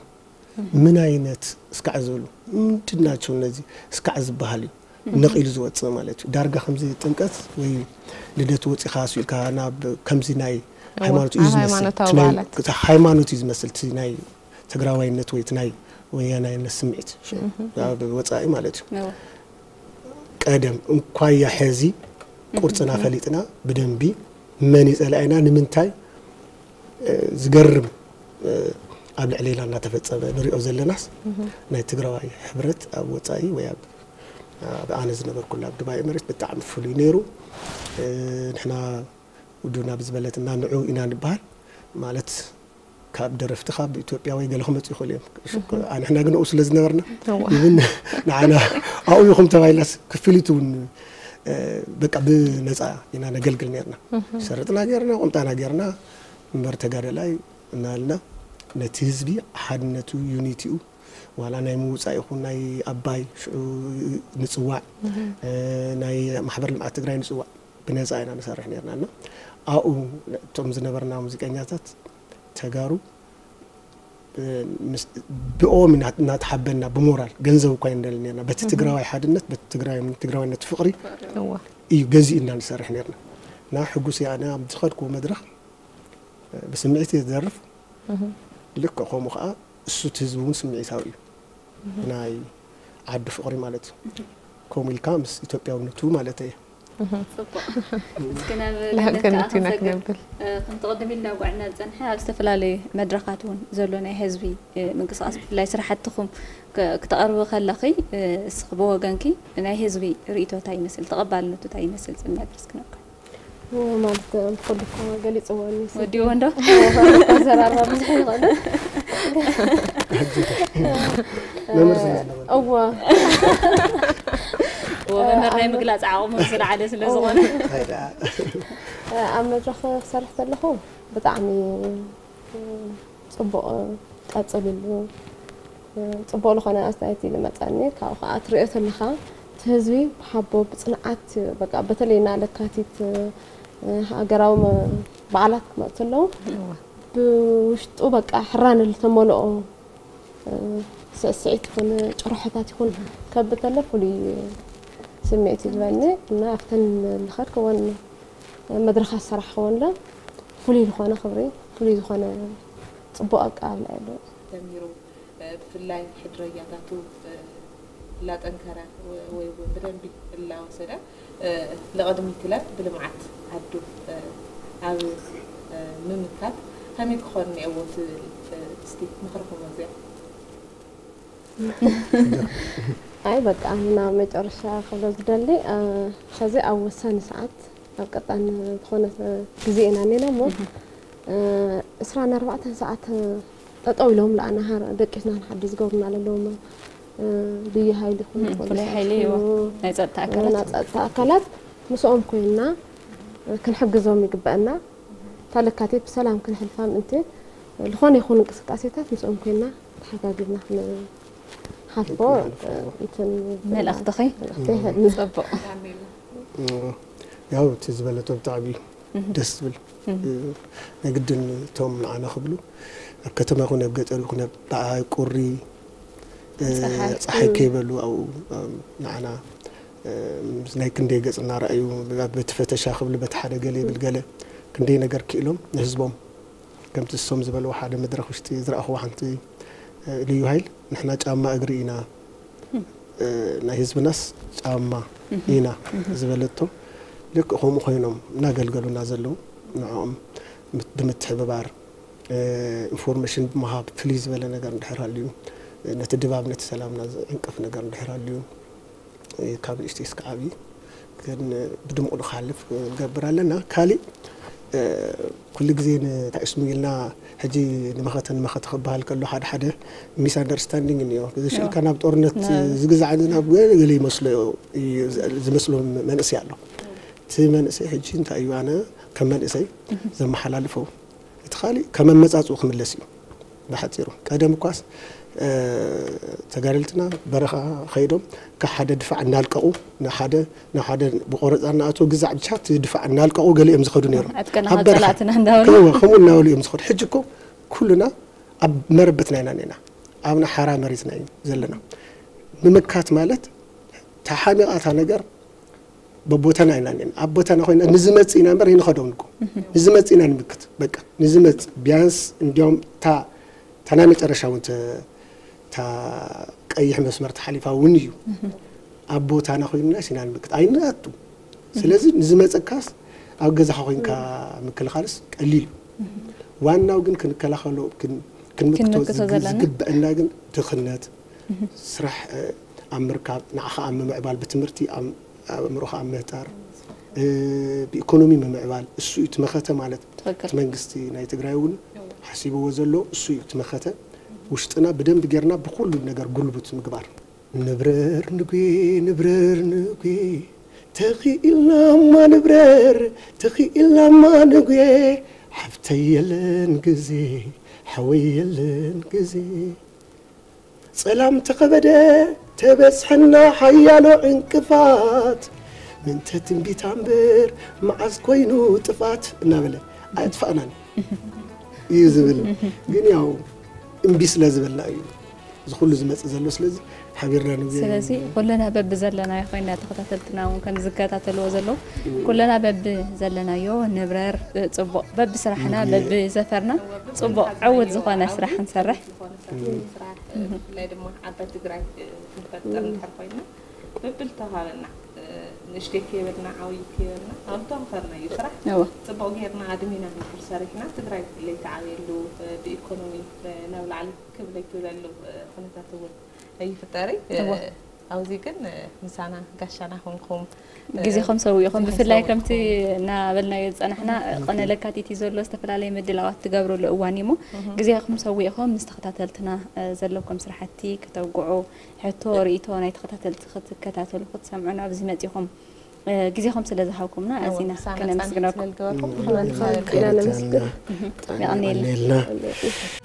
ምን ዓይነት እስካዕ ዝበሉ ምንድን ናቸው እነዚህ እስካዕ ዝበሃል እዩ ነቒሉ ዝወፅእ ማለት እዩ ዳርጋ ከምዚ ጥምቀት ወይ ልደት ወፂኻ ስኢልካ ናብ ከምዚ ናይ ሃይማኖት እዩ ዝመስል ሃይማኖት እዩ ዝመስል ናይ ትግራዋይነት ወይ ናይ ወያናይነት ስምዒት ኣብ ወፃኢ ማለት እዩ ቀደም እንኳያ ሐዚ ቁርፅና ፈሊጥና ብደንቢ መን ይፀላኢና ንምንታይ ዝገርም ኣብ ልዕሌና እናተፈፀመ ንሪኦ ዘለናስ ናይ ትግራዋይ ሕብረት ኣብ ወፃኢ ወይ ኣብ ኣነ ዝነበርኩላ ኣብ ድባይ ኤምሬት ብጣዕሚ ፍሉይ ነይሩ ንሕና ውድብና ብዝበለትና ንዑ ኢና ንበሃል ማለት ካብ ደረፍቲ ካብ ኢትዮጵያ ወይ ገለ ክመፁ ይኽእሉ እዮም ኣንሕና ግን ኡ ስለ ዝነበርና ይብን ንዓና ኣብኡ ይኹም ተባይላስ ክፍሊት እውን በቃ ብነፃ ኢና ነገልግል ነርና ሸርጥና ገርና ቁምጣና ገርና እምበር ተጋደላይ እናልና ነቲ ህዝቢ ሓድነቱ ዩኒቲኡ ዋላ ናይ ምውፃእ ይኹን ናይ ኣባይ ሽዑ ንፅዋዕ ናይ ማሕበር ልምዓት ትግራይ ንፅዋዕ ብነፃ ኢና ንሰርሕ ነርና እና ኣብኡ እቶም ዝነበርና ሙዚቀኛታት ተጋሩ ብኦም እናተሓበና ብሞራል ገንዘብ እኳ ይንደል ነርና በቲ ትግራዋይ ሓድነት በቲ ትግራዋይነት ፍቕሪ እዩ ገዚእና ንሰርሕ ነርና እና ሕጉስ ኣነ ኣብ ዝኸድኩዎ መድረኽ ብስምዒት እየ ዝደርፍ ልክዕ ከምኡ ከዓ እሱ እቲ ህዝቢ እውን ስምዒታዊ እዩ ናይ ዓዲ ፍቕሪ ማለት እዩ ከምኡ ኢልካ ምስ ኢትዮጵያውነቱ ማለት እየ ጽቡቕ እስኪ ናብ ገነት ከዓ ክንሰግር ከምቲ ቅድም ኢልና ጉዕና ዝፀንሐ ኣብ ዝተፈላለዩ መድረኻት እውን ዘሎ ናይ ህዝቢ ምንቅስቃስ ብፍላይ ስራሕትኹም ክተቕርቢ ከለኺ እስኺ ብወገንኪ ናይ ህዝቢ ርእይቶ እንታይ ይመስል ተቐባልነቱ እንታይ ይመስል ዝብል መድረስ ክነካ ማለት ብኩሉ እኮ ገሊፅዎ ወዲዎ እንዶ ዘራርባ ብዙሕ ይኽእሉ መምህር ስለ ዝነበረ እዋ ወመምህር ናይ ምግላፅ ዓቕሙ ዝለዓለ ስለ ዝኾነ ኣይ ደኣ ኣብ መድረኽ ክሰርሕ ከለኹ ብጣዕሚ ፅቡቕ ቀፅልሉ ፅቡቕ ዝኾነ ኣስተያየት እዩ ዝመፀኒ ካብኡ ከዓ ትሪኦ ተለካ እቲ ህዝቢ ብሓቦ ብፅንዓት በቃ በተለይ ና ለካቲት ሃገራዊ በዓላት ክመፁ ኣለዉ ብውሽጡ በቃ ሕራነ ዝተመልኦ ስዕስዒት ይኹን ጭርሖታት ይኹን ከብተለ ፍሉይ ስምዒት ይልበኒ እና ኣብተን ዝኸድክወን መድረኻት ዝሰራሕክወንለ ፍሉይ ዝኾነ ክብሪ ፍሉይ ዝኾነ ፅቡቕ ኣቀባብላ ኣለዎ። ተሚሩ ብፍላይ ሕድረኛታቱ ላጠንከረ ወይ እውን ብደንቢ እላወሰደ ንቐድሚት ኢለ ብልምዓት ዓዱ ኣብ ምምካት ከመይ ክኾን እኒአዎ ትብል እስቲ ምኽርኹም እዚኣ ኣይ በቃ ናብ መጨረሻ ክብሎ ዝደሊ ከዚ ኣብ ወሳኒ ሰዓት ኣብ ቀጣን ዝኾነ ግዜ ኢና እኒና እሞ እስራን ኣርባዕተን ሰዓት ጠጠው ኢሎም ለኣና ደቂስና ንሓዲ ዝገብሩና ለለዎም ልዩ ሓይሊ ይኹን ፍሉይ ሓይሊ ናይ ጸጥታ ኣካላት ጸጥታ ኣካላት ምስኦም ኮይንና ክንሕግዞም ይግበአና። እታ ለካቲት ብሰላም ክንሕልፋ ምእንቲ ዝኾነ ይኹን እንቅስቃሴታት ምስኦም ኮይና ተሓጋጊዝና ክንሓልፎ እንትን መልእኽትኺ መልእኽተይ ይህብ። ጽቡቕ። ያው እቲ ዝበለቶ ብጣዕሚ እዩ ደስ ዝብል። ናይ ግድን እቶም ንዓና ክብሉ ኣብ ከተማ ይኹን ኣብ ገጠር ይኹን ኣብ ቁሪ ጸሓይ። ጸሓይ ከይበሉ ኣብኡ ንዓና ምስ ናይ ክንደይ ገጽ እናረኣዩ በቲ ፈተሻ ክብሉ በቲ ሓደ ገለ ይብል ገለ ክንደይ ነገር ክኢሎም ንህዝቦም ከምቲ እሶም ዝበልዎ ሓደ መድረኽ ውሽጢ ዝረኣኽዎ ሓንቲ ልዩ ሃይል ንሕና ጫማ እግሪ ኢና ናይ ህዝብናስ ጫማ ኢና ዝበለቶ ልክ ከምኡ ኮይኖም እናገልገሉና ዘለዉ ንዕኦም ብምትሕብባር ኢንፎርሜሽን ብምሃብ ፍልይ ዝበለ ነገር እንድሕር ሃልዩ ነቲ ድባብ ነቲ ሰላምና ዝዕንቅፍ ነገር እንድሕር ሃልዩ ካብ ንእሽተይ እስከ ዓብዪ ግን ብድምቑ ንክሓልፍ ንገብር ኣለና። ካሊእ ኩሉ ግዜ ንታይ ስሙ ኢልና ሕጂ ንመኸተ ንመኸተ ክበሃል ከሎ ሓደ ሓደ ሚስ ኣንደርስታንዲንግ እኒኦ። ዝሽልካ ናብ ጦርነት ዝግዛዕ ናብ ገለ ይመስሎ እዩ ዝመስሎ መንእሰይ ኣሎ። እቲ መንእሰይ ሕጂ እንታይ እዩ ኣነ ከም መንእሰይ ዘመሓላልፎ እቲ ካሊእ ከም ኣመፃፅኡ ክምለስ እዩ። ብሓፂሩ ቀደም እኳስ ተጋደልትና በረኻ ከይዶም ካብ ሓደ ድፋዕ እናልቀቑ ንሓደ ናብ ሓደ ብቆረፃ እናኣተው ግዛዕ ብቻ እቲ ድፋዕ እናልቀቑ ገለ እዮም ዝኸዱ ነይሮም። ዕጥቀና ኣብ በረኻ ጸላእትና እንዳበሉ። ከምኡ ከምኡ እናበሉ እዮም ዝኸዱ። ሕጂ እኮ ኩልና ኣብ መረበትና ኢና ኔና ኣብ ናይ ሓራ መሬትና እዩ ዘለና። ምምካት ማለት ተሓሚቓ እታ ነገር በቦታና ኢና ኔና ኣብ ቦታና ኮይና ንዝመጽእ ኢና እምበር ይንኸዶም እኮ ንዝመጽእ ኢና ንምክት በቃ ንዝመጽእ ቢያንስ እንዲያውም እታ እታ ናይ መጨረሻ እውን ተ- እታ ቀይሕ መስመር ተሓሊፋ እውን እዩ ኣብ ቦታና ኮይንና ሲና ንምክት ኣይንኣቱ። ስለዚ ንዝመጸካስ ኣብ ገዛኻ ኮይንካ ምክልኻልስ ቀሊል እዩ። ዋናው ግን ክንከላኸሎ ክን- ክንምክቶ ክንምክቶ ዝግ- ዘለና። ዝግበአና ግን ድኽነት ስራሕ እ፣ ኣብ ምርካብ ንዓኻ ኣብ ምምዕባል ብትምህርቲ ኣብ ኣእምሮኻ ኣብ ምህጣር እ፣ ብኢኮኖሚ ምምዕባል እሱ እዩ እቲ መኸተ ማለት ትኽክል። እቲ መንግስቲ ናይ ትግራይ እውን ሓሲብዎ ዘሎ እሱ እዩ እቲ መኸተ ውሽጥና ብደንብ ጌርና ብኩሉ ነገር ጉልቡት ምግባር ንብረር ንጉ ንብረር ንጉ ተኽኢልናማ ንብረር ተኽኢልናማ ንጉ ሓፍተይ የለን ግዜ ሓወይ የለን ግዜ ጸላም ተኸበደ ተበጽሐና ሓያሎ ዕንቅፋት ምንተ ትንቢት ኣንበር መዓዝ ኮይኑ ጥፋት እናበለ ኣየጥፋእናን እዩ ዝብል ግን ያው እምቢ ስለ ዝበልና እዩ እዚ ኩሉ ዝመጽእ ዘሎ ስለዚ ሓቢርና ንግ ስለዚ ኩልና በቢ ዘለናዮ ኮይና ተኸታተልትና እውን ከም ዝከታተልዎ ዘለዉ ኩልና በቢ ዘለናዮ ንብረር ጽቡቕ በቢ ስራሕና በቢ ዘፈርና ጽቡቕ ዕውት ዝኾነ ስራሕ ንሰርሕ ዝኾነ ስራሕ ንምስራሕ ብፍላይ ድማ ዓባይ ትግራይ ክንፈጥር እንድሕር ኮይና በብልተዋሃበና ንእሽተይ ከይበልና ዓብዪ ከይበልና ኣብ ተዋፈርናዮ ስራሕ እወ ፅቡቕ ጌርና ኣድሚና ንድሕር ሰሪሕና ትግራይ ለይተዓብየሉ ብኢኮኖሚ ናብ ላዕሊ ክብ ለይትብለሉ ኩነታት እውን ይፍጠር እዩ። እወ። ኣብዚ ግን ምሳና ጋሻና ኮንኩም ግዜኹም ሰዊእኹም ብፍላይ ዝሕሰቡ ከምቲ እናበልናዮ ዝፀናሕና ቅነ ለካቲት እዩ ዘሎ ዝተፈላለየ ምድላዋት ትገብርሉ እዋን እዩ እሞ ግዜኹም ሰዊእኹም ምስ ተኸታተልትና ዘለኩም ስራሕቲ ከተውግዑ ሕቶ ርእይቶ ናይ ተኸታተልቲ ክትከታተሉ ክትሰምዑና ኣብዚ መፂኹም ግዜኹም ስለ ዝሃብኩምና ኣዚና ምሳና ከነመስግነኩም ስለዝገበርኩም ክና ነመስግን የቐንየልና የቐንየልና